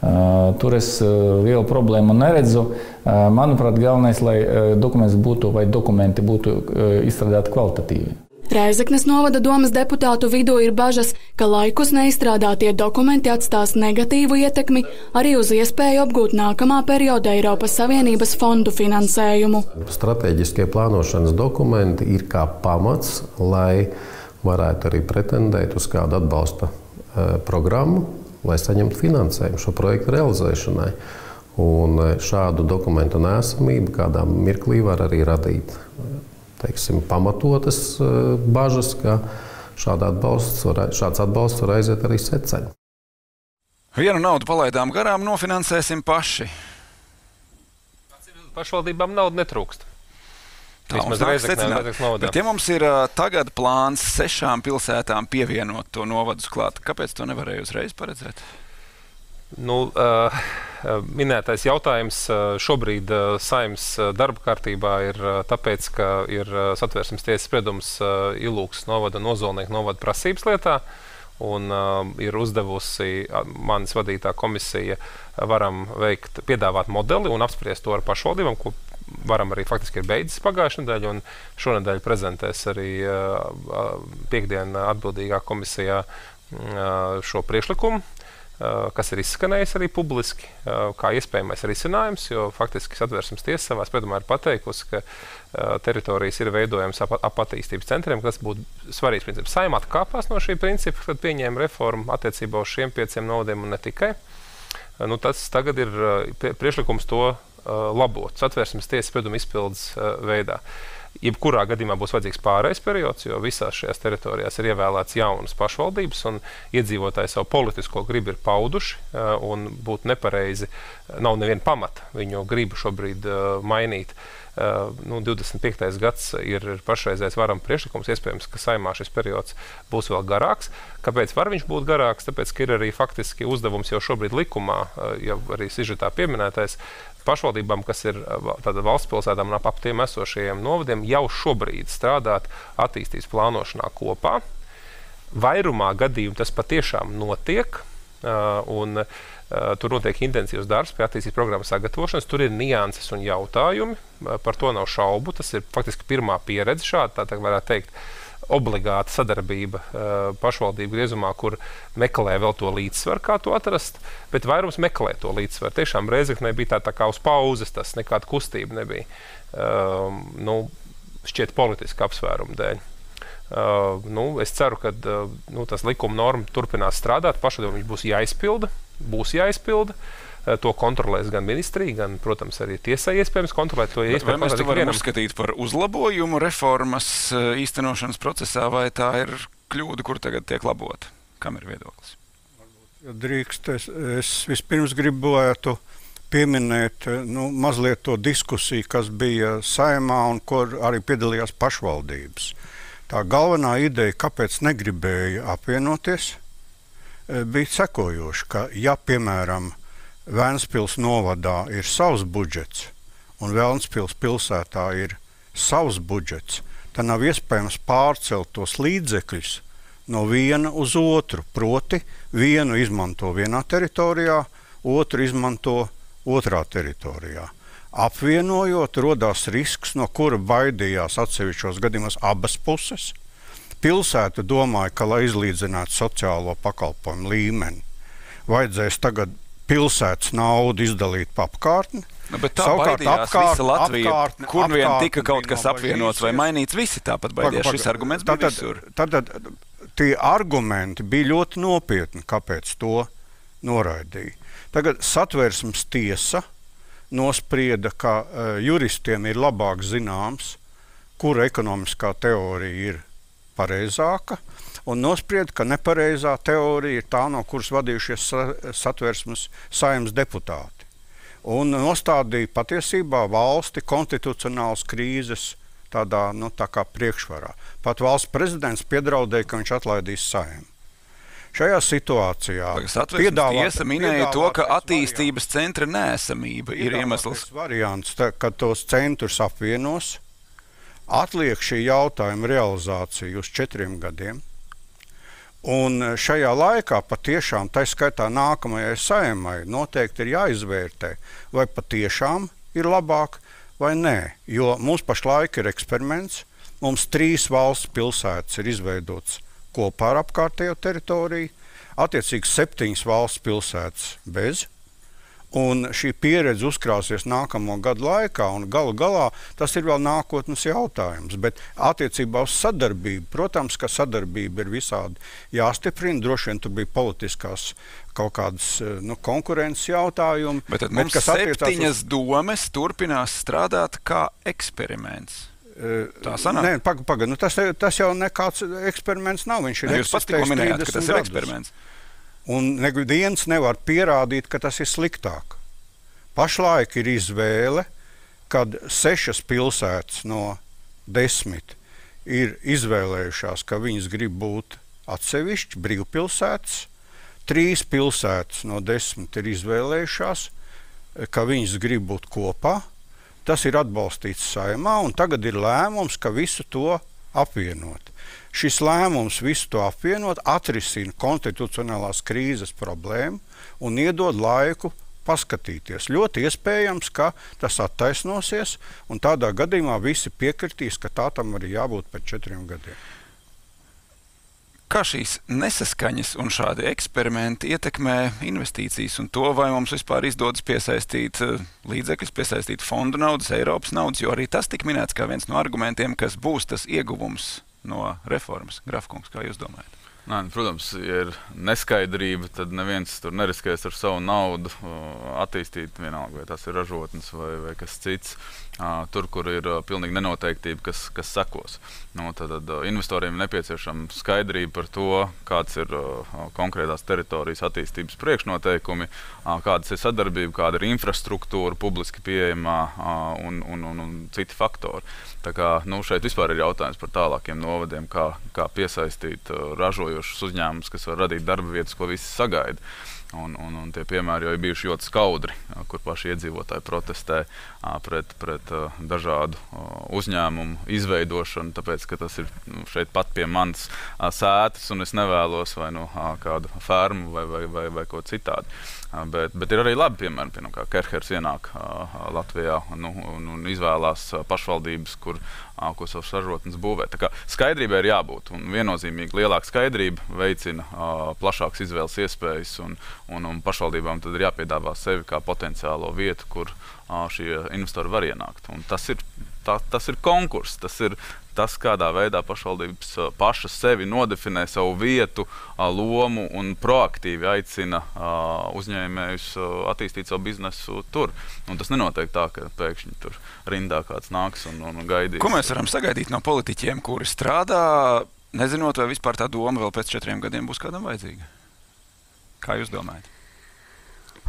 Uh, tur es uh, lielu problēmu neredzu. Uh, manuprāt, galvenais, lai uh, dokuments būtu vai dokumenti būtu uh, izstrādāti kvalitatīvi. Rēzeknes novada domas deputātu vidū ir bažas, ka laikus neizstrādātie dokumenti atstās negatīvu ietekmi arī uz iespēju apgūt nākamā perioda Eiropas Savienības fondu finansējumu. Stratēģiskie plānošanas dokumenti ir kā pamats, lai varētu arī pretendēt uz kādu atbalsta uh, programmu, lai saņemtu finansējumu šo projektu realizēšanai. Un šādu dokumentu neesamību kādā mirklī var arī radīt, teiksim, pamatotas bažas, ka šāda atbalsts var, šāds atbalsts var aiziet arī seceni. Vienu naudu palaidām garām, nofinansēsim paši. Pašvaldībām naudu netrūkst. Tā mums nāk secināt. Bet ja mums ir uh, tagad plāns sešām pilsētām pievienot to novadus klāt, kāpēc to nevarēja uzreiz paredzēt? Nu, uh, minētais jautājums uh, šobrīd uh, Saeimas uh, darba kārtībā ir uh, tāpēc, ka ir uh, Satversmes tiesas spriedums uh, Ilūksnes novada un Ozolnieku novada prasības lietā. Un uh, ir uzdevusi uh, manis vadītā komisija uh, varam veikt, piedāvāt modeli un apspriest to ar pašvaldībām, ko varam arī faktiski ir beidzis pagājušajā nedēļā, un šonedēļ prezentēs arī uh, piekdien atbildīgā komisijā uh, šo priekšlikumu, uh, kas ir izskanējis arī publiski, uh, kā iespējamais risinājums, jo faktiski Satversmes tiesa savā spriedumā ir pateikusi, ka uh, teritorijas ir veidojams ap, ap attīstības centriem, kas būtu svarīgs princips. Saeima atkāpās no šī principa, kad pieņēma reformu attiecībā uz šiem pieciem novadiem un ne tikai. Uh, nu, tas tagad ir uh, priekšlikums to labot Satversmes tiesas sprieduma izpildes uh, veidā. Jebkurā gadījumā būs vajadzīgs pārejas periods, jo visās šajās teritorijās ir ievēlēts jaunas pašvaldības, un iedzīvotāji savu politisko gribu ir pauduši, un būtu nepareizi, nav neviena pamata viņu gribu šobrīd mainīt. Nu, divdesmit piektais gads ir pašreizējais varam priekšlikums, iespējams, ka Saeimā šis periods būs vēl garāks. Kāpēc var viņš būt garāks? Tāpēc, ka ir arī faktiski uzdevums jau šobrīd likumā, jau arī sižetā pieminētais, pašvaldībām, kas ir tāda valsts pilsētām un ap, ap tiem esošajiem novadiem, jau šobrīd strādāt attīstības plānošanā kopā. Vairumā gadījumu tas patiešām notiek, un tur notiek intensīvs darbs pie attīstības programmas sagatavošanas, tur ir nianses un jautājumi, par to nav šaubu, tas ir faktiski pirmā pieredze šāda, tā, tā varētu teikt, obligāta sadarbība pašvaldību griezumā, kur meklē vēl to līdzsvaru, kā to atrast, bet vairums meklē to līdzsvaru. Tiešām Rēzeknē bija tā, tā kā uz pauzes, tas nekāda kustība nebija, um, nu, šķiet politiska apsvēruma dēļ. Uh, nu, es ceru, ka uh, nu, tas likuma norma turpinās strādāt, pašvaldībām viņš būs jāizpilda, būs jāizpilda. To kontrolēs gan ministrija, gan, protams, arī tiesai iespējams kontrolēt to. Vai mēs to varam uzskatīt par uzlabojumu reformas īstenošanas procesā, vai tā ir kļūda, kur tagad tiek labota? Kam ir viedoklis? Ja drīkst, es, es vispirms gribētu pieminēt nu, mazliet to diskusiju, kas bija Saeimā un kur arī piedalījās pašvaldības. Tā galvenā ideja, kāpēc negribēja apvienoties, bija sekojoša, ka ja, piemēram, Vēnspils novadā ir savs budžets un Vēnspils pilsētā ir savs budžets, tad nav iespējams pārcelt tos līdzekļus no viena uz otru. Proti, vienu izmanto vienā teritorijā, otru izmanto otrā teritorijā. Apvienojot, rodās risks, no kura baidījās atsevišķos gadījumos abas puses. Pilsēta domāja, ka, lai izlīdzinātu sociālo pakalpojumu līmeni, vajadzēs tagad pilsētas naudu izdalīt pa apkārtni. Nu, bet tā Savukārt, baidījās apkārt, visa Latvija, apkārtni, kur apkārtni, vien tika kaut kas apvienots vai mainīts, visi tāpat baidījās. Šis arguments bija tātad, visur. Tātad tie argumenti bija ļoti nopietni, kāpēc to noraidīja. Tagad Satversmes tiesa nosprieda, ka uh, juristiem ir labāk zināms, kura ekonomiskā teorija ir pareizāka, un nosprieda, ka nepareizā teorija ir tā, no kuras vadījušies Satversmes Saeimas deputāti. Un nostādīja patiesībā valsti konstitucionālas krīzes tādā, nu, tā kā priekšvarā. Pat valsts prezidents piedraudēja, ka viņš atlaidīs Saeimu. Šajā situācijā piedāvā, tiesa minēja to, ka attīstības variants, centra neesamība ir iemesls. Variants, tā, ka tos centrus apvienos, atliek šī jautājuma realizāciju uz četriem gadiem. Un šajā laikā patiešām, tā skaitā nākamajai Saeimai, noteikti ir jāizvērtē, vai patiešām ir labāk vai nē. Jo mums pašlaik ir eksperiments, mums trīs valsts pilsētas ir izveidotas kopā ar apkārtējo teritoriju, attiecīgi septiņas valsts pilsētas bez. Un šī pieredze uzkrāsies nākamo gadu laikā, un galu galā tas ir vēl nākotnes jautājums. Bet attiecībā uz sadarbību, protams, ka sadarbība ir visādi jāstiprina, droši vien tur bija politiskās kaut kādas nu, konkurences jautājumi. Bet tad mums septiņas uz... domes turpinās strādāt kā eksperiments. Tā sanāk? Nē, pagaid, pagaid, nu tas, tas jau nekāds eksperiments nav, viņš ir Jūs pats tikko minējāt, ka tas ir eksperiments. Un neviens nevar pierādīt, ka tas ir sliktāk. Pašlaik ir izvēle, kad sešas pilsētas no desmit ir izvēlējušās, ka viņas grib būt atsevišķi brīvpilsētas, trīs pilsētas no desmit ir izvēlējušās, ka viņas grib būt kopā. Tas ir atbalstīts Saeimā, un tagad ir lēmums, ka visu to apvienot. Šis lēmums visu to apvienot atrisina konstitucionālās krīzes problēmu un iedod laiku paskatīties. Ļoti iespējams, ka tas attaisnosies, un tādā gadījumā visi piekritīs, ka tā tam arī jābūt pēc četriem gadiem. Kā šīs nesaskaņas un šādi eksperimenti ietekmē investīcijas un to, vai mums vispār izdodas piesaistīt līdzekļus, piesaistīt fondu naudas, Eiropas naudas, jo arī tas tika minēts kā viens no argumentiem, kas būs tas ieguvums no reformas. Grafkungs, kā jūs domājat? Nā, protams, ja ir neskaidrība, tad neviens tur neriskēs ar savu naudu attīstīt vienalga, vai tas ir ražotnes vai, vai kas cits. Tur, kur ir pilnīgi nenoteiktība, kas, kas sekos. Nu, tad, tad investoriem ir nepieciešama skaidrība par to, kāds ir konkrētās teritorijas attīstības priekšnoteikumi, kādas ir sadarbība, kāda ir infrastruktūra, publiski pieejamā un, un, un, un citi faktori. Tā kā, nu, šeit vispār ir jautājums par tālākiem novadiem, kā, kā piesaistīt ražojošus uzņēmumus, kas var radīt darba vietas, ko visi sagaida. Un, un, un tie piemēri jau ir bijuši ļoti skaudri, kur paši iedzīvotāji protestē pret, pret dažādu uzņēmumu izveidošanu, tāpēc, ka tas ir šeit pat pie manas sētas un es nevēlos vai nu kādu fermu vai, vai, vai, vai ko citādi. Bet, bet ir arī labi piemēri, piemēram, kā Kerhers ienāk Latvijā nu, un, un izvēlās pašvaldības, kur, ko savas ražotnes būvē. Tā kā skaidrībai ir jābūt, un viennozīmīgi lielāka skaidrība veicina plašākas izvēles iespējas, un, un, un pašvaldībām tad ir jāpiedāvā sevi kā potenciālo vietu, kur šie investori var ienākt. Un tas ir, tā, tas ir konkurss, tas ir tas, kādā veidā pašvaldības pašas sevi nodefinē savu vietu, lomu un proaktīvi aicina uzņēmējus attīstīt savu biznesu tur. Un tas nenotiek tā, ka pēkšņi tur rindā kāds nāks un, un gaidīs. Ko mēs varam sagaidīt no politiķiem, kuri strādā, nezinot, vai vispār tā doma vēl pēc četriem gadiem būs kādam vajadzīga? Kā jūs domājat?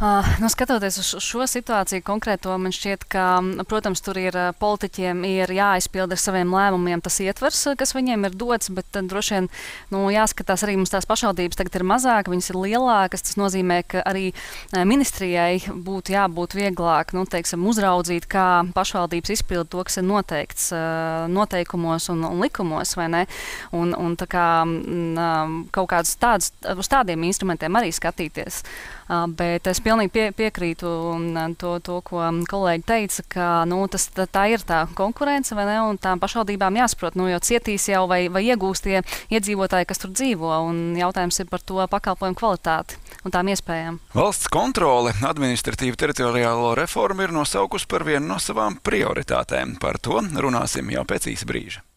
Uh, nu, skatoties uz šo situāciju konkrēto, man šķiet, ka, protams, tur ir politiķiem ir jāizpilda ar saviem lēmumiem tas ietvers, kas viņiem ir dots, bet tad droši vien nu, jāskatās arī mums tās pašvaldības tagad ir mazāk, viņas ir lielākas, tas nozīmē, ka arī ministrijai būtu jābūt vieglāk, nu, teiksim, uzraudzīt, kā pašvaldības izpilda to, kas ir noteikts uh, noteikumos un, un likumos, vai ne? Un, un tā kā um, kaut kādus tādus, uz tādiem instrumentiem arī skatīties. Uh, bet es pilnīgi pie, piekrītu to, to, ko kolēģi teica, ka nu, tas, tā, tā ir tā konkurence, vai ne, un tām pašvaldībām jāsaprot, nu, jo cietīs jau vai, vai iegūst tie iedzīvotāji, kas tur dzīvo, un jautājums ir par to pakalpojumu kvalitāti un tām iespējām. Valsts kontrole administratīvu teritoriālo reformu ir nosaukusi par vienu no savām prioritātēm. Par to runāsim jau pēc īsa brīža.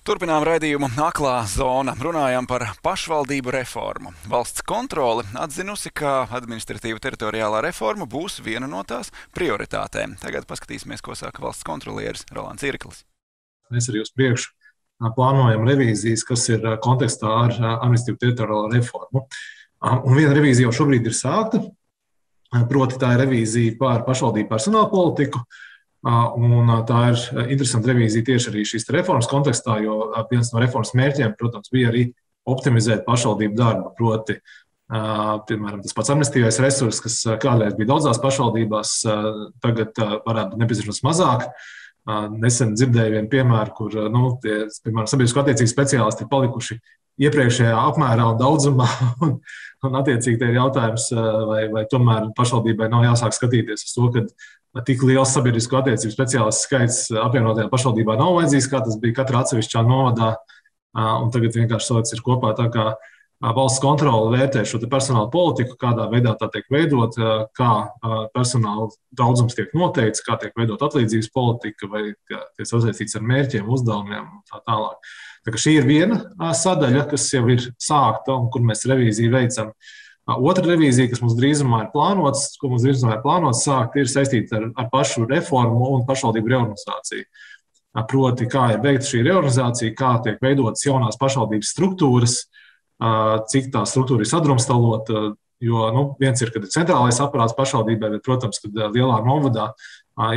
Turpinām raidījumu Aklā zona. Runājam par pašvaldību reformu. Valsts kontrole atzinusi, ka administratīva teritoriālā reforma būs viena no tās prioritātēm. Tagad paskatīsimies, ko saka valsts kontrolieris Rolands Irklis. Mēs arī uz priekšu plānojam revīzijas, kas ir kontekstā ar administratīvu teritoriālo reformu. Un viena revīzija jau šobrīd ir sākta, proti tā ir revīzija par pašvaldību personāla politiku. Un tā ir interesanta revīzija tieši arī šīs reformas kontekstā, jo viens no reformas mērķiem, protams, bija arī optimizēt pašvaldību darbu, proti, piemēram, tas pats administratīvais resurss, kas kādreiz bija daudzās pašvaldībās, tagad varētu būt nepieciešams mazāk. Nesen dzirdēju vienu piemēru, kur, nu, tie, piemēram, sabiedrisko attiecību speciālisti ir palikuši iepriekšējā apmērā un daudzumā, un, un attiecīgi te ir jautājums, vai, vai tomēr pašvaldībai nav jāsāk skatīties uz to, ka tik liels sabiedrisko attiecību speciālistu skaits apvienotajā pašvaldībā nav vajadzīgs, kā tas bija katrā atsevišķā novadā, un tagad vienkārši sots ir kopā tā kā valsts kontrole vērtē šo te personāla politiku, kādā veidā tā tiek veidot, kā personāla daudzums tiek noteikts, kā tiek veidot atlīdzības politika, vai tiek sasaistīts ar mērķiem, uzdevumiem un tā tālāk. Tā kā šī ir viena sadaļa, kas jau ir sākta un kur mēs revīziju veicam. Otra revīzija, kas mums drīzumā ir plānots, ko mums drīzumā ir plānots sākt, ir saistīta ar, ar pašu reformu un pašvaldību reorganizāciju. Proti, kā ir veikta šī reorganizācija, kā tiek veidotas jaunās pašvaldības struktūras, cik tā struktūra ir sadrumstalota, jo nu, viens ir, kad ir centrālais aparāts pašvaldībai, bet, protams, kad lielā novadā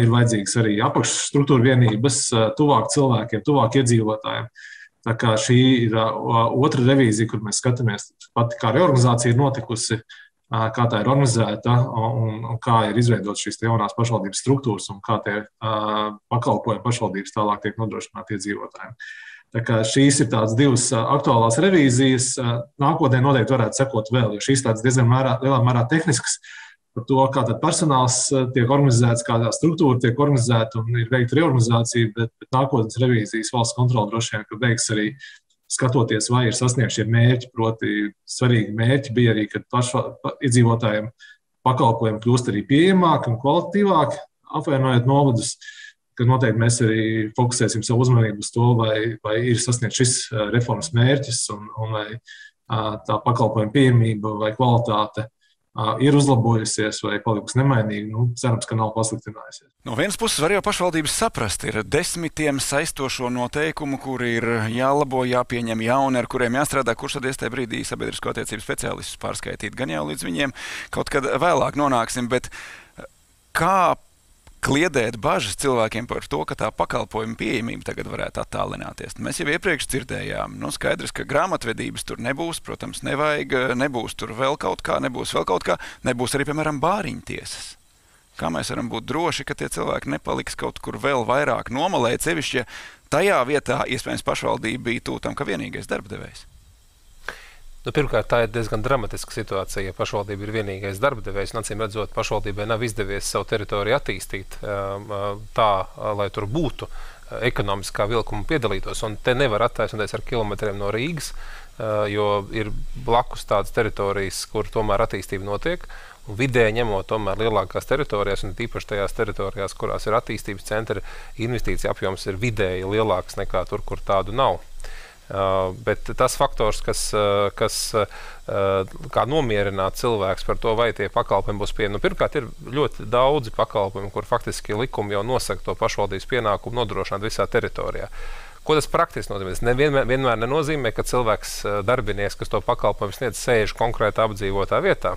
ir vajadzīgas arī apakšstruktūra vienības, tuvāk cilvēkiem, tuvāk iedzīvotājiem. Tā kā šī ir otra revīzija, kur mēs skatāmies pati, kā reorganizācija ir notikusi, kā tā ir organizēta un, un kā ir izveidot šīs jaunās pašvaldības struktūras un kā tie pakalpojumi pašvaldības tālāk tiek nodrošināti iedzīvotājiem. Tā kā šīs ir tādas divas aktuālās revīzijas. Nākotnē noteikti varētu sekot vēl, jo šīs tādas diezgan mērā, lielā mērā tehniskas par to, kā tad personāls tiek organizēts, kādā struktūra tiek organizēta un ir veikta reorganizācija, bet, bet nākotnes revīzijas valsts kontrole droši vien, ka veiks arī skatoties, vai ir sasniegti šie mērķi, proti svarīgi mērķi bija arī, kad pašva, iedzīvotājiem pakalpojumi kļūst arī pieejamāki un kvalitatīvāki, apvienojot novadus, ka noteikti mēs arī fokusēsim savu uzmanību uz to, vai, vai ir sasniegts šis reformas mērķis un, un vai tā pakalpojuma pieejamība vai kvalitāte ir uzlabojusies vai palikusi nemainīga. Nu, cerams, ka nav pasliktinājusies. No vienas puses var jau pašvaldības saprast, ir desmitiem saistošo noteikumu, kuri ir jālabo, jāpieņem jauni, ar kuriem jāstrādā, kurš tad iestajā brīdī sabiedrisko attiecību speciālistus pārskaitīt. Gan jau līdz viņiem kaut kad vēlāk nonāksim, bet kā kliedēt bažas cilvēkiem par to, ka tā pakalpojuma pieejamība tagad varētu attālināties. Mēs jau iepriekš dzirdējām, nu skaidrs, ka grāmatvedības tur nebūs, protams, nevajag, nebūs tur vēl kaut kā, nebūs vēl kaut kā, nebūs arī, piemēram, bāriņtiesas. Kā mēs varam būt droši, ka tie cilvēki nepaliks kaut kur vēl vairāk nomalē, sevišķi, ja tajā vietā, iespējams, pašvaldība bija tūtam, ka vienīgais darbdevējs? Nu, pirmkārt, tā ir diezgan dramatiska situācija, ja pašvaldība ir vienīgais darbdevējs. Acīm redzot, pašvaldībai nav izdevies savu teritoriju attīstīt tā, lai tur būtu ekonomiskā vilkuma piedalītos. Un te nevar attaisnoties ar kilometriem no Rīgas, jo ir blakus tādas teritorijas, kur tomēr attīstība notiek. Un vidēji ņemot tomēr lielākās teritorijās, un tīpaši tajās teritorijās, kurās ir attīstības centri, investīcija apjoms ir vidēji lielāks nekā tur, kur tādu nav. Uh, bet tas faktors, kas, uh, kas uh, kā nomierināt cilvēks par to, vai tie pakalpojumi būs pieejami. Nu, pirmkārt, ir ļoti daudzi pakalpojumi, kur faktiski likumi jau nosaka to pašvaldības pienākumu nodrošināt visā teritorijā. Ko tas praktiski nozīmē? Tas nevienmēr, vienmēr nenozīmē, ka cilvēks darbinieks, kas to pakalpojumu sniedz, sēž konkrētā apdzīvotā vietā.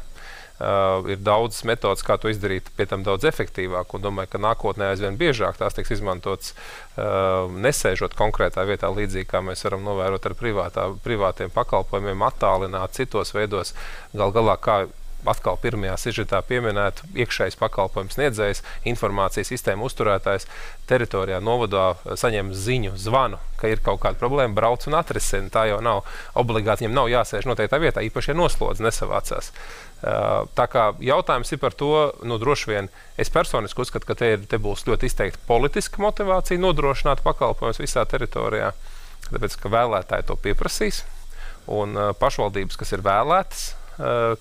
Uh, ir daudz metodas, kā to izdarīt, pie tam daudz efektīvāk, un domāju, ka nākotnē aizvien biežāk tās tiks izmantots uh, nesēžot konkrētā vietā, līdzīgi kā mēs varam novērot ar privātā, privātiem pakalpojumiem, attālināt citos veidos, gal galā kā atkal pirmajā sižetā pieminēt iekšējais pakalpojums sniedzējs, informācijas sistēma uzturētājs teritorijā novadā saņem ziņu, zvanu, ka ir kaut kāda problēma, brauc un atrisina. Tā jau nav obligāti, viņam nav jāsēž noteiktā vietā, īpaši ja noslodzi nesavācās. Tā kā jautājums ir par to, nu droši vien, es personiski uzskatu, ka te, ir, te būs ļoti izteikti politiska motivācija nodrošināt pakalpojumus visā teritorijā, tāpēc, ka vēlētāji to pieprasīs, un pašvaldības, kas ir vēlētas,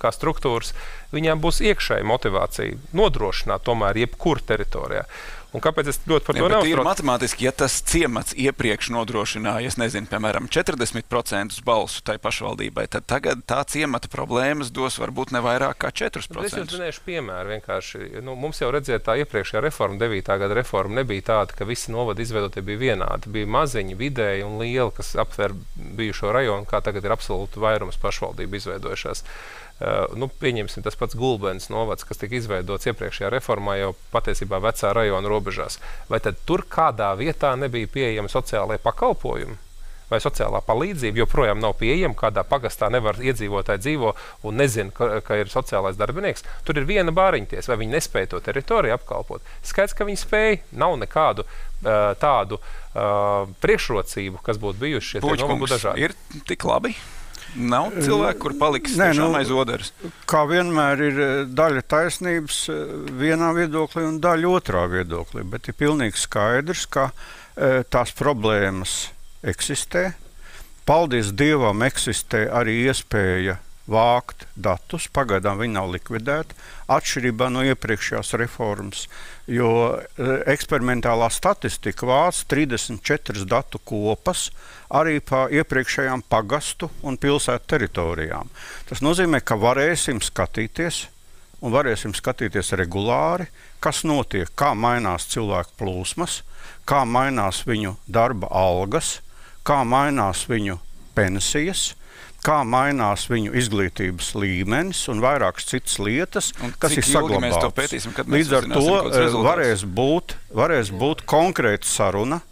kā struktūras, viņām būs iekšēja motivācija nodrošināt tomēr jebkur teritorijā. Un kāpēc es ļoti par to neuztraucos? Ir matemātiski, ja tas ciemats iepriekš nodrošināja, es nezinu, piemēram, četrdesmit procentus balsu tai pašvaldībai, tad tagad tā ciemata problēmas dos varbūt ne vairāk kā četrus procentus. Es jums minēšu piemēru vienkārši. Nu, mums jau redziet, tā iepriekšējā reforma, devītā gada reforma, nebija tāda, ka visi novadi izveidotie bija vienādi. Bija maziņi, vidēji un lieli, kas aptver bijušo rajonu, kā tagad ir absolūti vairums pašvaldību izveidojušās. Uh, nu, pieņemsim tas pats Gulbenes novads, kas tika izveidots iepriekšējā reformā jau patiesībā vecā rajona robežās. Vai tad tur kādā vietā nebija pieejami sociālai pakalpojumi? Vai sociālā palīdzība joprojām nav pieejama, kādā pagastā nevar iedzīvotāji dzīvo un nezina, ka, ka ir sociālais darbinieks? Tur ir viena bāriņtiesa, vai viņi nespēja to teritoriju apkalpot. Skaidrs, ka viņi spēja, nav nekādu uh, tādu uh, priekšrocību, kas būtu bijuši šie novadu dažādi. Ir tik labi? Nav cilvēku, kur paliks Nē, tiešām nu, aiz oderes? Kā vienmēr ir daļa taisnības vienā viedoklī un daļa otrā viedoklī, bet ir pilnīgi skaidrs, ka e, tās problēmas eksistē. Paldies Dievam eksistē arī iespēja vākt datus, pagaidām viņi nav likvidēti, atšķirībā no iepriekšējās reformas, jo eksperimentālā statistika vāc trīsdesmit četras datu kopas arī pa iepriekšējām pagastu un pilsētu teritorijām. Tas nozīmē, ka varēsim skatīties un varēsim skatīties regulāri, kas notiek, kā mainās cilvēku plūsmas, kā mainās viņu darba algas, kā mainās viņu pensijas, kā mainās viņu izglītības līmenis un vairākas citas lietas, un kas ir saglabātas. Līdz ar to varēs būt, varēs būt konkrēta saruna.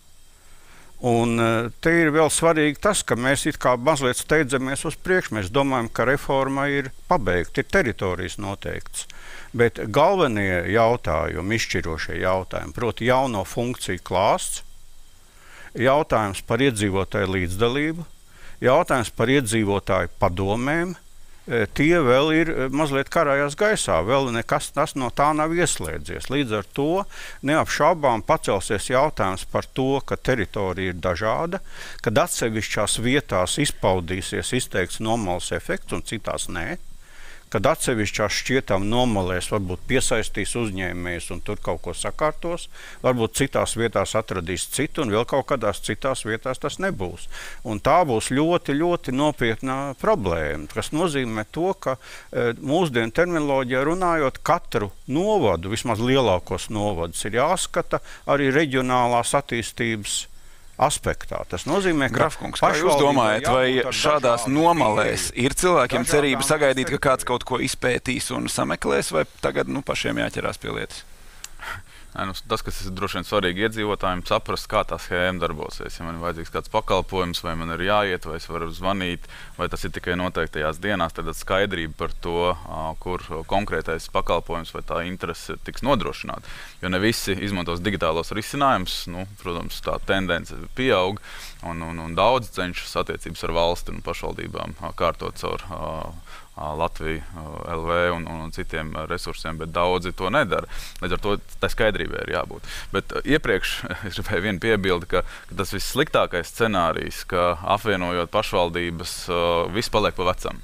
Un te ir vēl svarīgi tas, ka mēs it kā mazliet steidzamies uz priekšu. Mēs domājam, ka reforma ir pabeigta, ir teritorijas noteikts. Bet galvenie jautājumi, izšķirošie jautājumi, proti jauno funkciju klāsts, jautājums par iedzīvotāju līdzdalību, jautājums par iedzīvotāju padomēm, tie vēl ir mazliet karājās gaisā, vēl nekas tas no tā nav ieslēdzies. Līdz ar to neapšaubām pacelsies jautājums par to, ka teritorija ir dažāda, kad atsevišķās vietās izpaudīsies izteikts nomalas efekts un citās nē, kad atsevišķās šķietam nomalēs varbūt piesaistīs uzņēmējus un tur kaut ko sakārtos, varbūt citās vietās atradīs citu un vēl kaut kādās citās vietās tas nebūs. Un tā būs ļoti, ļoti nopietna problēma, kas nozīmē to, ka e, mūsdienu terminoloģijā runājot katru novadu, vismaz lielākos novadus, ir jāskata arī reģionālās attīstības aspektā. Tas nozīmē, ka Grafkungs, kā jūs domājat, vai šādās nomalēs ir cilvēkiem cerība sagaidīt, ka kāds kaut ko izpētīs un sameklēs, vai tagad nu, pašiem jāķerās pie lietas? Nē, nu, tas, kas ir droši vien svarīgi iedzīvotājiem, saprast, kā tā schēma darbosies. Ja man ir vajadzīgs kāds pakalpojums, vai man ir jāiet, vai es varu zvanīt, vai tas ir tikai noteiktajās dienās, tad skaidrība par to, kur konkrētais pakalpojums vai tā interese tiks nodrošināta. Jo ne visi izmantos digitālos risinājumus, nu, protams, tā tendence pieaug, un, un, un daudz cenšas attiecības ar valsti un pašvaldībām kārtot caur Latviju, L V un, un citiem resursiem, bet daudzi to nedara. Līdz ar to tā skaidrībai ir jābūt. Bet iepriekš es gribēju vienu piebildi, ka, ka tas vissliktākais scenārijs, ka apvienojot pašvaldības, viss paliek pa vecam.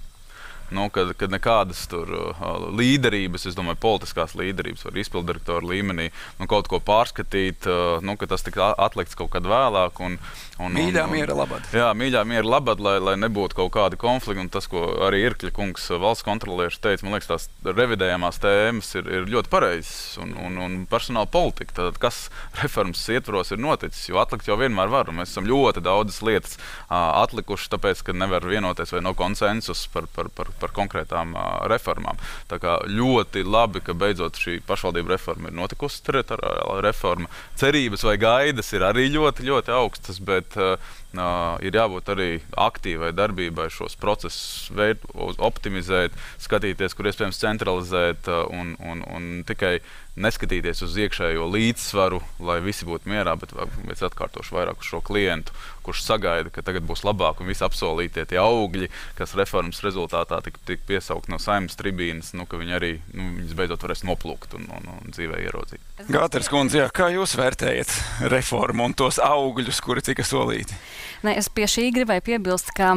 Nu, kad, kad nekādas tur uh, līderības, es domāju, politiskās līderības var izpildirektoru līmenī, nu, kaut ko pārskatīt, uh, nu, ka tas tik atlikts kaut kad vēlāk. Un, un, mīļā un, miera labad. Jā, mīļā miera labad, lai, lai nebūtu kaut kādi konflikti. Un tas, ko arī Irkļa kungs valsts kontrolieris teica, man liekas, tās revidējamās tēmas ir, ir ļoti pareizas. Un, un, un personāla politika, tad kas reformas ietvaros ir noticis, jo atlikt jau vienmēr var. Un mēs esam ļoti daudzas lietas uh, atlikuši, tāpēc, ka nevar vienoties vai nav konsensus par, par, par par konkrētām uh, reformām. Tā kā ļoti labi, ka beidzot šī pašvaldība reforma ir notikusi, teritoriālā reforma. Cerības vai gaidas ir arī ļoti, ļoti augstas, bet uh, uh, ir jābūt arī aktīvai darbībai šos procesus veid, optimizēt, skatīties, kur iespējams centralizēt uh, un, un, un tikai neskatīties uz iekšējo līdzsvaru, lai visi būtu mierā, bet es atkārtošu vairāk uz šo klientu, kurš sagaida, ka tagad būs labāk un visi apsolītie tie augļi, kas reformas rezultātā tik, tik piesaukt no Saeimas tribīnas, nu, ka viņi arī, nu, viņas beidzot varēs noplūkt un, un, un dzīvē ieraudzīt. Gāters kundze, jā, kā jūs vērtējat reformu un tos augļus, kuri tika solīti? Ne, es pie šī gribēju piebilst, ka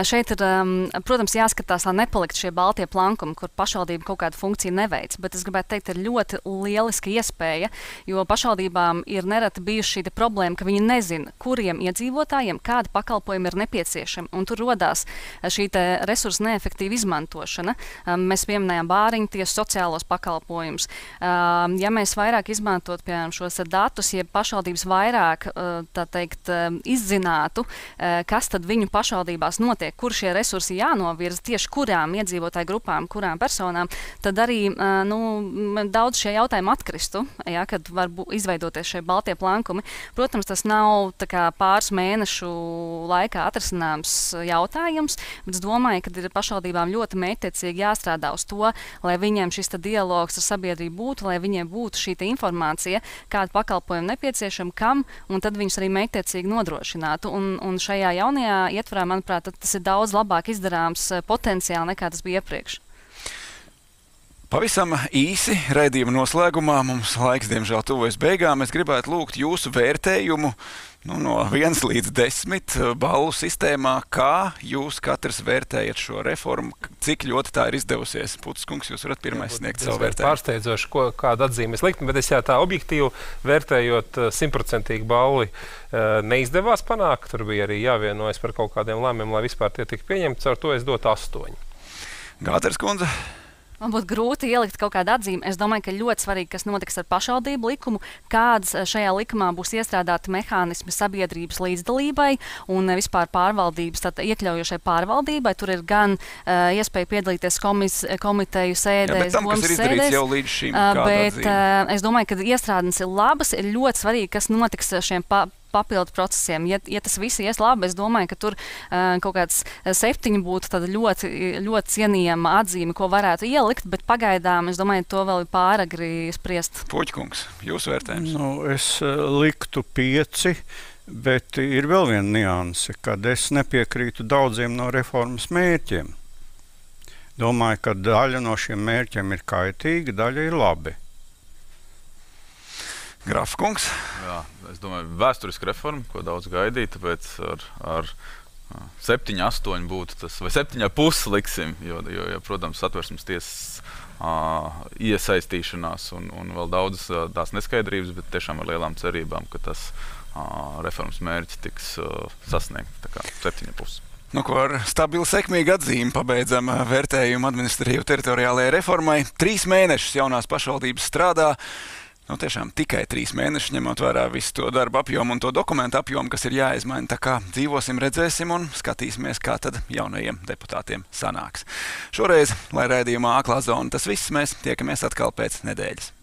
šeit ir, protams, jāskatās, lai nepalikt šie baltie plankumi, kur pašvaldība kaut kādu funkciju neveic, bet es gribētu teikt, ir ļoti lieliska iespēja, jo pašvaldībām ir nereti bijuši šī problēma, ka viņi nezina, kuriem iedzīvotājiem kādi pakalpojumi ir nepieciešami, un tur rodās šī resursu neefektīva izmantošana. Mēs pieminējām bāriņu tiesu sociālos pakalpojumus. Ja mēs vairāk izmantot, piemēram, šos datus, ja pašvaldības vairāk, tā teikt, izzinātu, kas tad viņu pašvaldībās notiek, kur šie resursi jānovirza, tieši kurām iedzīvotāju grupām, kurām personām, tad arī nu, daudz šie jautājumi atkristu, ja, kad var izveidoties šie baltie plankumi. Protams, tas nav tā kā pāris mēnešu laikā atrisināms jautājums, bet es domāju, ka ir pašvaldībām ļoti mērķtiecīgi jāstrādā uz to, lai viņiem šis dialogs ar sabiedrību būtu, lai viņiem būtu šī informācija, kāda pakalpojuma nepieciešama, kam, un tad viņus arī mērķtiecīgi nodrošinātu. Un, un šajā jaunajā ietvarā, manuprāt, tas ir daudz labāk izdarāms potenciāli nekā tas bija iepriekš. Pavisam īsi raidījuma noslēgumā, mums laiks, diemžēl, tuvojas beigām. Es gribētu lūgt jūsu vērtējumu nu, no viens līdz desmit ballu sistēmā, kā jūs katrs vērtējat šo reformu, cik ļoti tā ir izdevusies. Putis kungs, jūs varat pirmais sniegt savu vērtējumu. Pārsteidzoši, ko, kādu atzīmi es liktu, bet es jā tā objektīvi vērtējot simtprocentīgi balli neizdevās panākt. Tur bija arī jāvienojas par kaut kādiem lēmumiem, lai vispār tie tik pieņemti. Ar to es dotu astoņi. Gāters kundze? Man būtu grūti ielikt kaut kādu atzīmi. Es domāju, ka ļoti svarīgi, kas notiks ar pašvaldību likumu, kādas šajā likumā būs iestrādāti mehānismi sabiedrības līdzdalībai un vispār pārvaldības, tātad iekļaujošai pārvaldībai. Tur ir gan uh, iespēja piedalīties komis, komiteju sēdēs, domas sēdēs. Jau līdz šim, uh, bet uh, es domāju, ka iestrādes ir labas, ir ļoti svarīgi, kas notiks šiem pa papildu procesiem. Ja, ja tas viss ies labi, es domāju, ka tur uh, kaut kāds septiņi būtu tāda ļoti, ļoti cienījama atzīme, ko varētu ielikt, bet pagaidām, es domāju, to vēl ir pāragri spriest. Puķkungs, jūsu vērtējums? Nu, es uh, liktu pieci, bet ir vēl viena nianse, kad es nepiekrītu daudziem no reformas mērķiem. Domāju, ka daļa no šiem mērķiem ir kaitīga, daļa ir labi. Grafkungs? Jā, es domāju, vēsturiska reforma, ko daudz gaidīja, tāpēc ar, ar septiņi, astoņi būtu tas, vai septiņi pusi liksim, jo, jo, jo protams, Satversmes tiesas uh, iesaistīšanās un, un vēl daudzas uh, tās neskaidrības, bet tiešām ar lielām cerībām, ka tas uh, reformas mērķi tiks uh, sasniegt, tā kā septiņi pusi. Nu, ko ar stabilu sekmīgu atzīmi pabeidzam vērtējumu administratīvu teritoriālajai reformai. Trīs mēnešus jaunās pašvaldības strādā. Nu, tiešām tikai trīs mēneši, ņemot vērā visu to darbu apjomu un to dokumentu apjomu, kas ir jāizmaina. Tā kā dzīvosim, redzēsim un skatīsimies, kā tad jaunajiem deputātiem sanāks. Šoreiz, lai raidījumā Aklā zona tas viss, mēs tiekamies atkal pēc nedēļas.